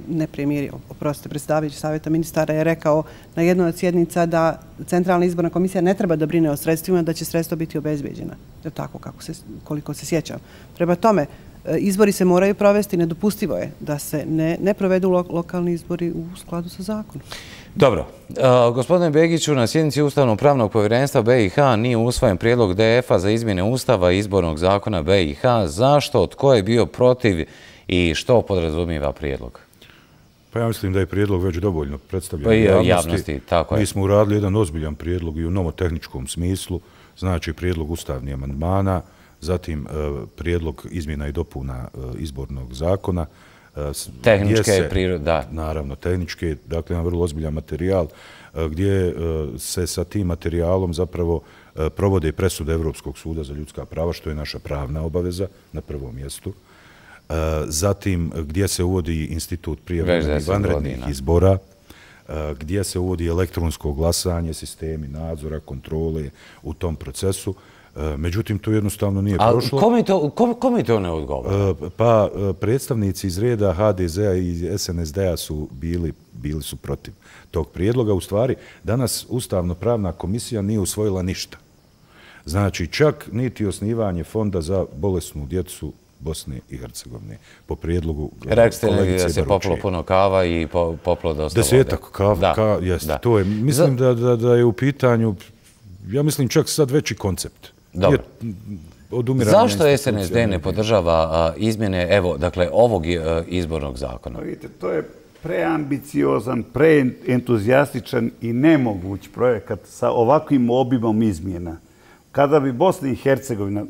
ne premijer, oprostite, predstavljajući savjeta ministara je rekao na jednoj od sjednica da Centralna izborna komisija ne treba da brine o sredstvima, da će sredstva biti obezbeđena. Je tako koliko se sjećam. Prema tome, izbori se moraju provesti, nedopustivo je da se ne provedu lokalni izbori u skladu sa zakonom. Dobro. Gospodine Begiću, na sjednici Ustavno-pravnog povjerenstva BiH nije usvojen prijedlog DF-a za izmjene Ustava i izbornog zakona BiH. Zašto? Tko je bio protiv i što podrazumijeva prijedlog? Pa ja mislim da je prijedlog već dovoljno predstavljen javnosti. Mi smo uradili jedan ozbiljan prijedlog i u nomotehničkom smislu, znači prijedlog ustavnih amandmana, zatim prijedlog izmjena i dopuna izbornog zakona. Tehničke prirode, da. Naravno, tehničke, dakle, jedan vrlo ozbiljan materijal gdje se sa tim materijalom zapravo provode presude Evropskog suda za ljudska prava, što je naša pravna obaveza na prvom mjestu. Zatim, gdje se uvodi institut prijevremenih vanrednih izbora, gdje se uvodi elektronsko glasanje, sistemi nadzora, kontrole u tom procesu. Međutim, to jednostavno nije prošlo. Kome to ne odgovara? Pa predstavnici iz reda HDZ-a i SNSD-a su bili su protiv tog prijedloga. U stvari, danas Ustavno-pravna komisija nije usvojila ništa. Znači, čak niti osnivanje fonda za bolesnu djecu Bosne i Hercegovine po prijedlogu kolegice Baručije. Da se poplo puno kava i poplo dosta vode. 10 kava, jeste. Mislim da je u pitanju, ja mislim čak sad veći koncept. Dobro. Zašto SNSD ne podržava izmjene, evo, dakle, ovog izbornog zakona? Vidite, to je preambiciozan, preentuzijastičan i nemoguć projekat sa ovakvim obimom izmjena. Kada bi Bosna i Hercegovina,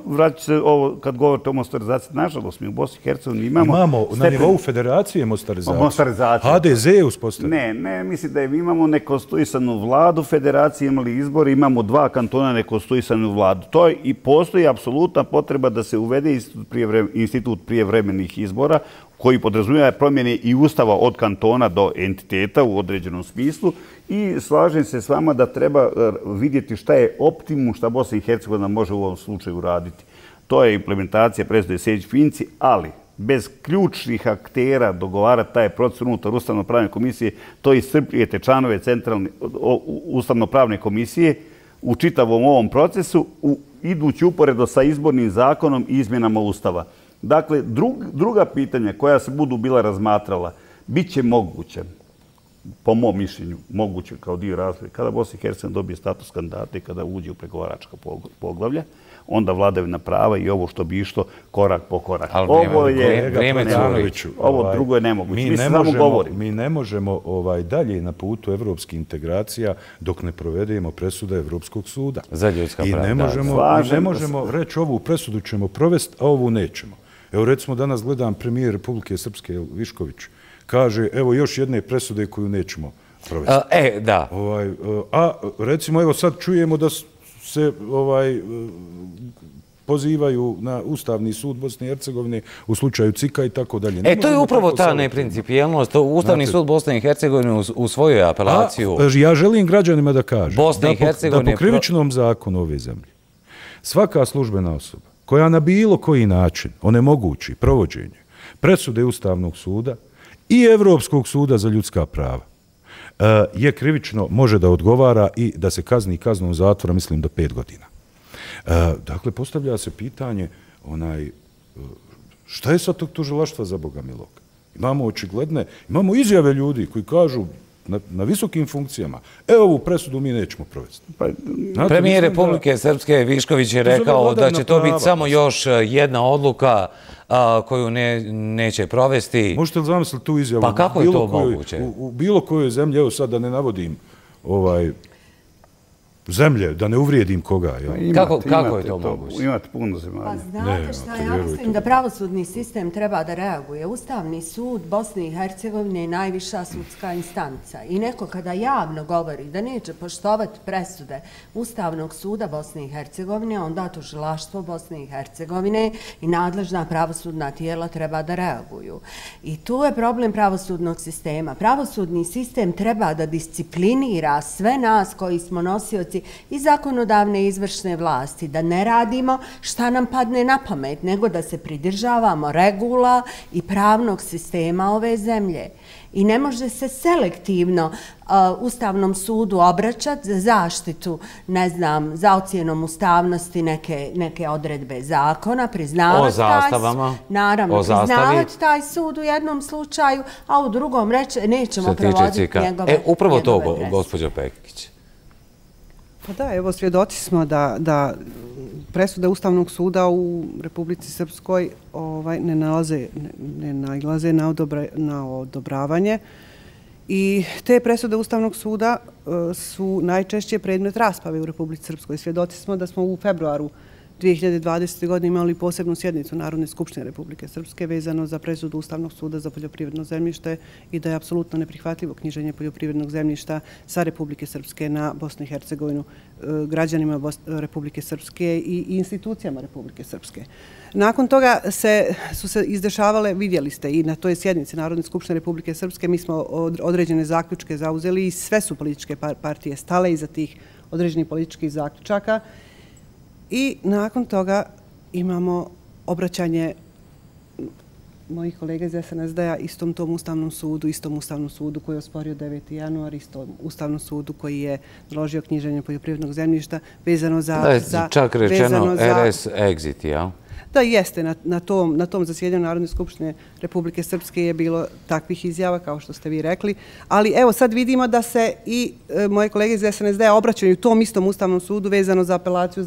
vraću se ovo kad govorite o mostarizaciji, nažalost mi u Bosni i Hercegovini imamo na nivou federacije mostarizaciju. HDZ je uspostavio. Ne, mislim da imamo nekonstituisanu vladu federacije, imali izbor, imamo 2 kantona nekonstituisanu vladu. To i postoji apsolutna potreba da se uvede institut prijevremenih izbora koji podrazumijeva promjene i ustava od kantona do entiteta u određenom smislu i slažem se s vama da treba vidjeti šta je optimum šta Bosna i Hercegovina može u ovom slučaju raditi. To je implementacija presude Sejdić-Finci, ali bez ključnih aktera dogovarati taj proces unutar Ustavno-pravne komisije, to iscrpljujete članove Ustavno-pravne komisije u čitavom ovom procesu, idući uporedo sa izbornim zakonom i izmjenama Ustava. Dakle, druga pitanja koja se budu bila razmatrala, bit će moguće, po mom mišljenju, moguće kao dio razvoja, kada Bosna i Hercegovina dobije status kandidata i kada uđe u pregovaračka poglavlja, onda vladavina prava i ovo što bi išlo korak po korak. Ovo drugo je nemoguće. Mi ne možemo dalje na putu evropskih integracija dok ne provedemo presude Evropskog suda. Za ljudska prava. I ne možemo reći ovu presudu ćemo provesti, a ovu nećemo. Evo recimo danas gledam premijer Republike Srpske Višković. Kaže, evo još jedne presude koju nećemo provesti. Da. A recimo, evo sad čujemo da se pozivaju na Ustavni sud Bosne i Hercegovine u slučaju CIK-a i tako dalje. To je upravo ta neprincipijelnost. Ustavni sud Bosne i Hercegovine usvojio je apelaciju. Ja želim građanima da kažem da po krivičnom zakonu ove zemlje svaka službena osoba koja na bilo koji način onemogući provođenje presude Ustavnog suda i Evropskog suda za ljudska prava je krivično, može da odgovara i da se kazni kaznom zatvora, mislim, do 5 godina. Dakle, postavlja se pitanje šta je sad tog tužilaštva za Boga milog? Imamo očigledne, imamo izjave ljudi koji kažu na visokim funkcijama, ovu presudu mi nećemo provesti. Premijer Republike Srpske Višković je rekao da će to biti samo još jedna odluka koju neće provesti. Možete li zamisliti tu izjavu? Pa kako je to moguće? U bilo kojoj zemlji, evo sad da ne navodim zemlje, da ne uvrijedim koga. Kako je to moguće? Imate puno zemalja. Pa znate šta, ja mislim da pravosudni sistem treba da reaguje. Ustavni sud Bosne i Hercegovine je najviša sudska instanca. I neko kada javno govori da neće poštovati presude Ustavnog suda Bosne i Hercegovine, onda tužilaštvo Bosne i Hercegovine i nadležna pravosudna tijela treba da reaguju. I tu je problem pravosudnog sistema. Pravosudni sistem treba da disciplinira sve nas koji smo nosioci i zakonodavne i izvršne vlasti, da ne radimo šta nam padne na pamet, nego da se pridržavamo regula i pravnog sistema ove zemlje. I ne može se selektivno Ustavnom sudu obraćati za zaštitu, ne znam, za ocjenom ustavnosti neke odredbe zakona, priznavati taj sud u jednom slučaju, a u drugom reći nećemo provoditi njegove upravo to, gospođo Pekić. Pa da, evo svjedoci smo da presude Ustavnog suda u Republici Srpskoj ne nailaze na odobravanje i te presude Ustavnog suda su najčešće predmet rasprave u Republici Srpskoj. Svjedoci smo da smo u februaru 2020. godine imali posebnu sjednicu Narodne skupštine Republike Srpske vezano za presudu Ustavnog suda za poljoprivredno zemljište i da je apsolutno neprihvatljivo knjiženje poljoprivrednog zemljišta sa Republike Srpske na Bosnu i Hercegovinu građanima Republike Srpske i institucijama Republike Srpske. Nakon toga su se izdešavale, vidjeli ste, i na toj sjednici Narodne skupštine Republike Srpske mi smo određene zaključke zauzeli i sve su političke partije stale iza tih određenih političkih zaključaka. I nakon toga imamo obraćanje mojih kolega iz SNSD-a istom tom Ustavnom sudu koji je osporio 9. januar, istom Ustavnom sudu koji je naložio knjiženje poljoprivrednog zemljišta vezano za... Da je čak rečeno RS exit, ja? Da, jeste. Na tom zasjedanju Narodne skupštine Republike Srpske je bilo takvih izjava, kao što ste vi rekli. Ali evo sad vidimo da se i moje kolege iz SNSD-a obraćaju tom istom Ustavnom sudu vezano za apelaciju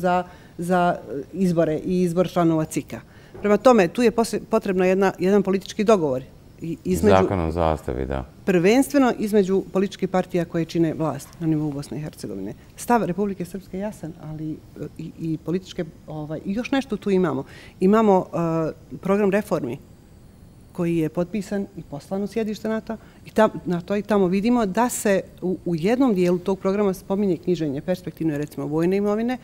za izbore i izbor članova CIK-a. Prema tome, tu je potrebno jedan politički dogovor. Zakon o zastavi, da. Prvenstveno između političkih partija koje čine vlast na nivou Bosne i Hercegovine. Stav Republike Srpske je jasan, ali i političke... I još nešto tu imamo. Imamo program reformi koji je potpisan i poslan u sjedište NATO i tamo vidimo da se u jednom dijelu tog programa spominje knjiženje perspektivne, recimo, vojne imovine,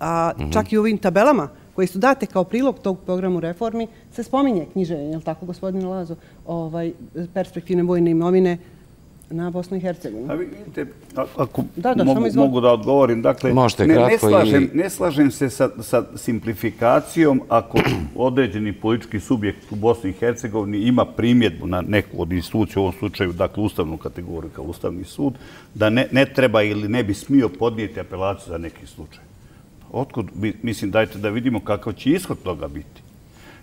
a čak i u ovim tabelama koji su date kao prilog tog programu reformi, se spominje knjiženje, je li tako, gospodine Lazo, perspektivne vojne imovine na Bosnu i Hercegovinu. A vidite, ako mogu da odgovorim, dakle, ne slažem se sa simplifikacijom ako određeni politički subjekt u Bosni i Hercegovini ima primjedbu na neku od institucija, u ovom slučaju, dakle, ustavnu kategoriju kao Ustavni sud, da ne treba ili ne bi smio podnijeti apelaciju za neki slučaj. Otkud, mislim, dajte da vidimo kakav će ishod toga biti.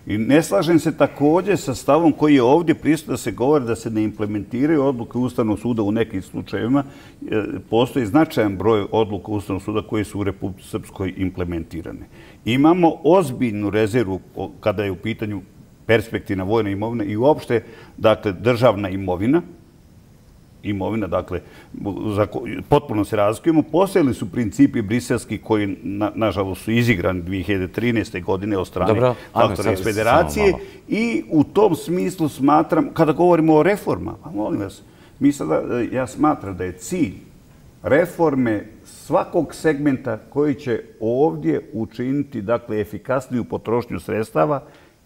I ne slažem se također sa stavom koji je ovdje prisutan da se govori da se ne implementiraju odluke Ustavnog suda u nekim slučajevima. Postoji značajan broj odluka Ustavnog suda koji su u Republici Srpskoj implementirane. Imamo ozbiljnu rezervu kada je u pitanju perspektivna vojna imovina i uopšte, dakle, državna imovina, dakle, potpuno se razlikujemo. Postojali su principi briselski koji, nažalost, su izigrani 2013. godine od strane faktora iz Federacije i u tom smislu smatram, kada govorimo o reformama, molim vas, ja smatram da je cilj reforme svakog segmenta koji će ovdje učiniti, dakle, efikasniju potrošnju sredstava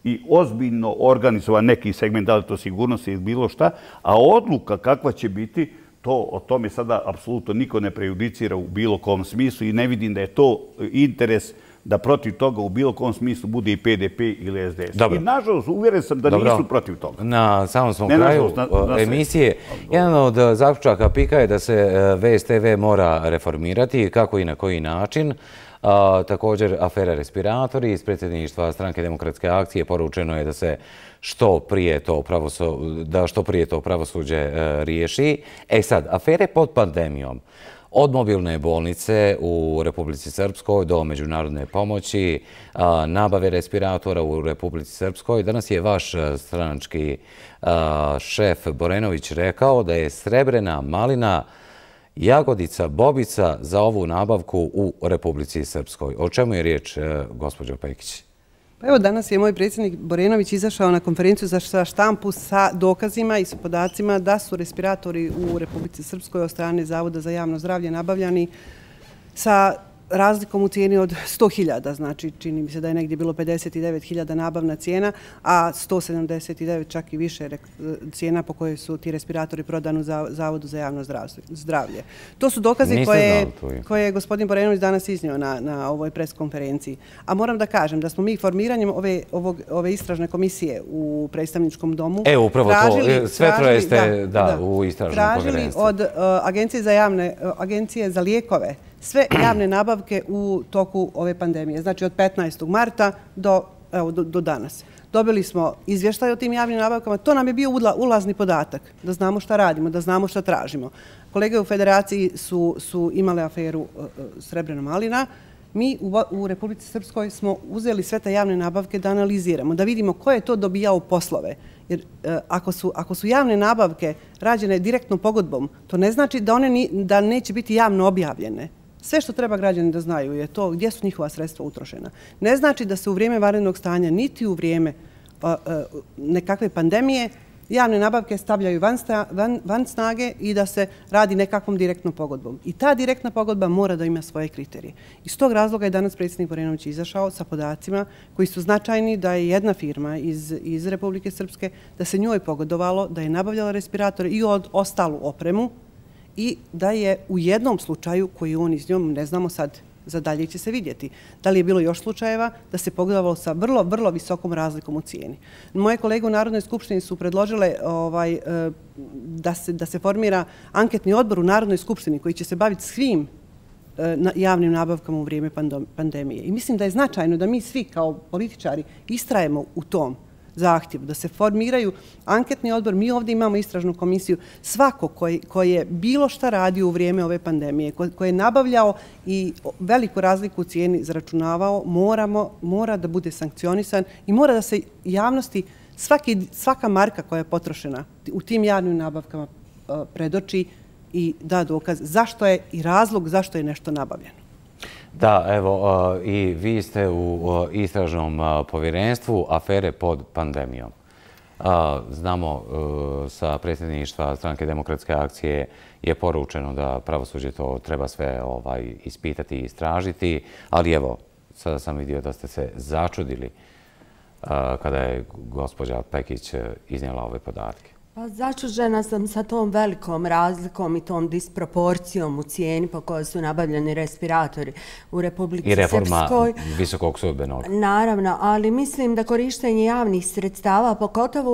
i ozbiljno organizovan neki segment, da li to sigurnost ili bilo šta, a odluka kakva će biti, o tome sada apsolutno niko ne prejudicira u bilo kom smislu i ne vidim da je to interes da protiv toga u bilo kom smislu bude i PDP ili SDS. Dobro. I nažalost uvjeren sam da nisu protiv toga. Na samom smo kraju emisije. Jedan od zaključaka PIK-a je da se VSTV mora reformirati, kako i na koji način. Također, afera respiratori iz predsjedništva Stranke demokratske akcije poručeno je da se što prije to pravosuđe riješi. Sad, afere pod pandemijom, od mobilne bolnice u Republici Srpskoj do međunarodne pomoći, nabave respiratora u Republici Srpskoj. Danas je vaš stranački šef Borenović rekao da je srebrena malina jagodica, bobica za ovu nabavku u Republici Srpskoj. O čemu je riječ, gospođo Pekić? Evo, danas je moj predsjednik Borenović izašao na konferenciju za štampu sa dokazima i sa podacima da su respiratori u Republici Srpskoj od strane Zavoda za javno zdravlje nabavljani sa razlikom u cijeni od 100.000, znači čini mi se da je negdje bilo 59.000 nabavna cijena, a 179 čak i više cijena po kojoj su ti respiratori prodani u Zavodu za javno zdravlje. To su dokazi koje je gospodin Borenović danas iznio na ovoj preskonferenciji. A moram da kažem da smo mi formiranjem ove istražne komisije u predstavničkom domu upravo to, sve troje ste u istražnom povjerenstvu. Tražili od Agencije za lijekove sve javne nabavke u toku ove pandemije, znači od 15. marta do danas. Dobili smo izvještaj o tim javnim nabavkama, to nam je bio ulazni podatak, da znamo šta radimo, da znamo šta tražimo. Kolege u Federaciji su imale aferu Srebrena malina. Mi u Republici Srpskoj smo uzeli sve te javne nabavke da analiziramo, da vidimo ko je to dobijao poslove. Jer ako su javne nabavke rađene direktnom pogodbom, to ne znači da neće biti javno objavljene. Sve što treba građani da znaju je to gdje su njihova sredstva utrošena. Ne znači da se u vrijeme vanrednog stanja, niti u vrijeme nekakve pandemije, javne nabavke stavljaju van snage i da se radi nekakvom direktnom pogodbom. I ta direktna pogodba mora da ima svoje kriterije. Iz tog razloga je danas predsjednik Borenović izašao sa podacima koji su značajni da je jedna firma iz Republike Srpske, da se njoj pogodovalo, da je nabavljala respiratore i ostalu opremu i da je u jednom slučaju koji on iz njom, ne znamo sad, za dalje će se vidjeti. Da li je bilo još slučajeva da se pogodovalo sa vrlo, vrlo visokom razlikom u cijeni. Moje kolege u Narodnoj skupštini su predložile da se formira anketni odbor u Narodnoj skupštini koji će se baviti svim javnim nabavkama u vrijeme pandemije. I mislim da je značajno da mi svi kao političari istrajemo u tom zahtjevu, da se formiraju anketni odbor. Mi ovdje imamo istražnu komisiju. Svako koji je bilo šta radio u vrijeme ove pandemije, koji je nabavljao i veliku razliku u cijeni zaračunavao, mora da bude sankcionisan i mora da se javnosti svaka marka koja je potrošena u tim javnim nabavkama predoči i da dokaz zašto je i razlog zašto je nešto nabavljeno. Da, evo, i vi ste u istražnom povjerenstvu afere pod pandemijom. Znamo, sa predsjedništva Stranke demokratske akcije je poručeno da pravosuđe to treba sve ispitati i istražiti, ali evo, sada sam vidio da ste se začudili kada je gospođa Pekić iznijela ove podatke. Začuđena sam sa tom velikom razlikom i tom disproporcijom u cijeni po kojoj su nabavljeni respiratori u Republici Srpskoj. I reforma Visokog sudbenog. Naravno, ali mislim da korištenje javnih sredstava, pogotovo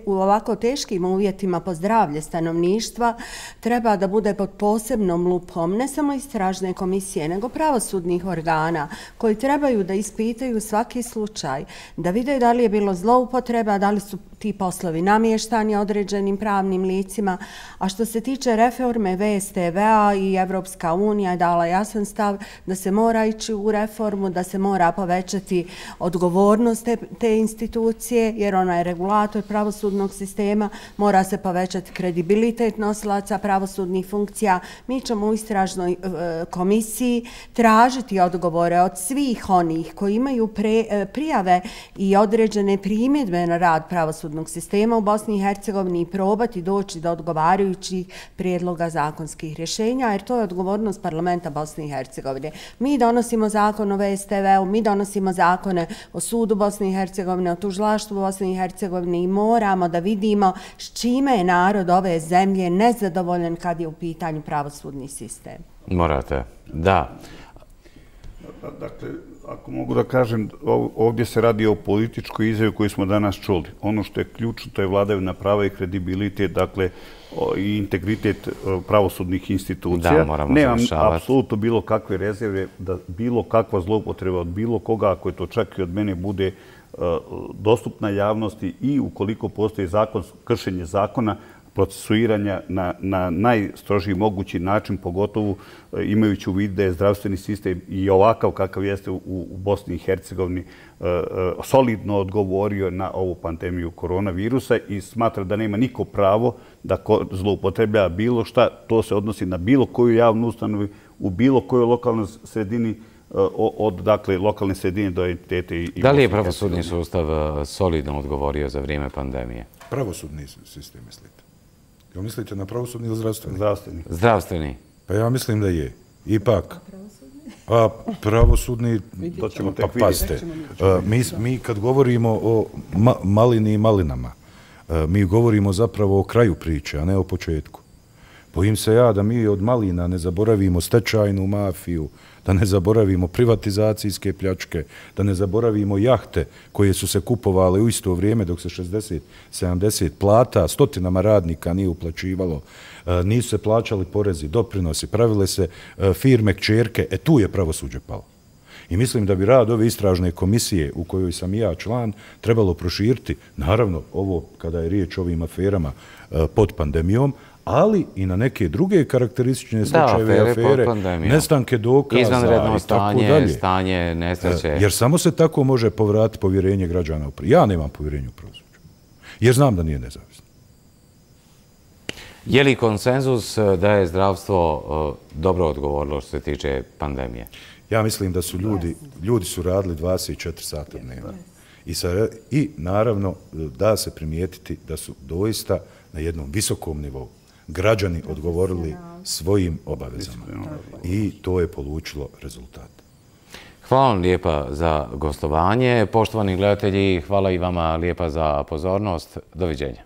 u ovako teškim uvjetima po zdravlje stanovništva, treba da bude pod posebnom lupom ne samo istražne komisije, nego pravosudnih organa koji trebaju da ispitaju svaki slučaj, da vide da li je bilo zloupotreba, da li su ti poslovi namještani određenim pravnim licima. A što se tiče reforme VSTV-a i Evropska unija je dala jasan stav da se mora ići u reformu, da se mora povećati odgovornost te institucije, jer ona je regulator pravosudnog sistema, mora se povećati kredibilitet nosilaca pravosudnih funkcija. Mi ćemo u istražnoj komisiji tražiti odgovore od svih onih koji imaju prijave i određene primjedbe na rad pravosudnog sistema u Bosni i Hercegovini i probati doći do odgovarajućih prijedloga zakonskih rješenja, jer to je odgovornost parlamenta Bosne i Hercegovine. Mi donosimo zakon o VSTV-u, mi donosimo zakone o sudu Bosne i Hercegovine, o tužilaštvu Bosne i Hercegovine i moramo da vidimo s čime je narod ove zemlje nezadovoljan kad je u pitanju pravosudni sistem. Morate, da. Dakle, Ako mogu da kažem, ovdje se radi o političkoj izjavi koju smo danas čuli. Ono što je ključno, to je vladavina prava i kredibilitet, dakle, i integritet pravosudnih institucija. Da, moramo završavati. Nemam apsolutno bilo kakve rezerve da bilo kakva zloupotreba od bilo koga, ako je to čak i od mene, bude dostupna javnosti i ukoliko postoji kršenje zakona, procesuiranja na najstrožiji mogući način, pogotovo imajući u vidu da je zdravstveni sistem i ovakav kakav jeste u Bosni i Hercegovini solidno odgovorio na ovu pandemiju koronavirusa i smatra da nema niko pravo da zloupotrebljava bilo šta. To se odnosi na bilo koju javnu ustanovu, u bilo kojoj lokalnoj sredini, od dakle lokalne sredine do entitete. Da li je pravosudni sustav solidno odgovorio za vrijeme pandemije? Pravosudni sistem, mislite? Jel mislite na pravosudni ili zdravstveni? Zdravstveni. Zdravstveni. Pa ja mislim da je. Ipak. A pravosudni... To ćemo tek vidjeti. Mi kad govorimo o malini i malinama, mi govorimo zapravo o kraju priče, a ne o početku. Bojim se ja da mi od malina ne zaboravimo stečajnu mafiju, da ne zaboravimo privatizacijske pljačke, da ne zaboravimo jahte koje su se kupovale u isto vrijeme dok se 60-70 plata, stotinama radnika nije uplaćivalo, nisu se plaćali porezi, doprinosi, pravile se firme kćerke, tu je pravosuđe palo. I mislim da bi rad ove istražne komisije u kojoj sam i ja član trebalo proširiti, naravno ovo kada je riječ o ovim aferama pod pandemijom, ali i na neke druge karakteristične slučajeve, afere, nestanke dokaza izvanredno i tako dalje. Stanje, nesreće. Jer samo se tako može povratiti povjerenje građana u pravosuđe. Ja nemam povjerenje u pravosuđe, jer znam da nije nezavisno. Je li konsenzus da je zdravstvo dobro odgovorilo što se tiče pandemije? Ja mislim da su ljudi su radili 24 sata dnevno. I naravno da se primijetiti da su doista na jednom visokom nivou građani odgovorili svojim obavezama. I to je polučilo rezultat. Hvala vam lijepa za gostovanje. Poštovani gledatelji, hvala i vama lijepa za pozornost. Doviđenja.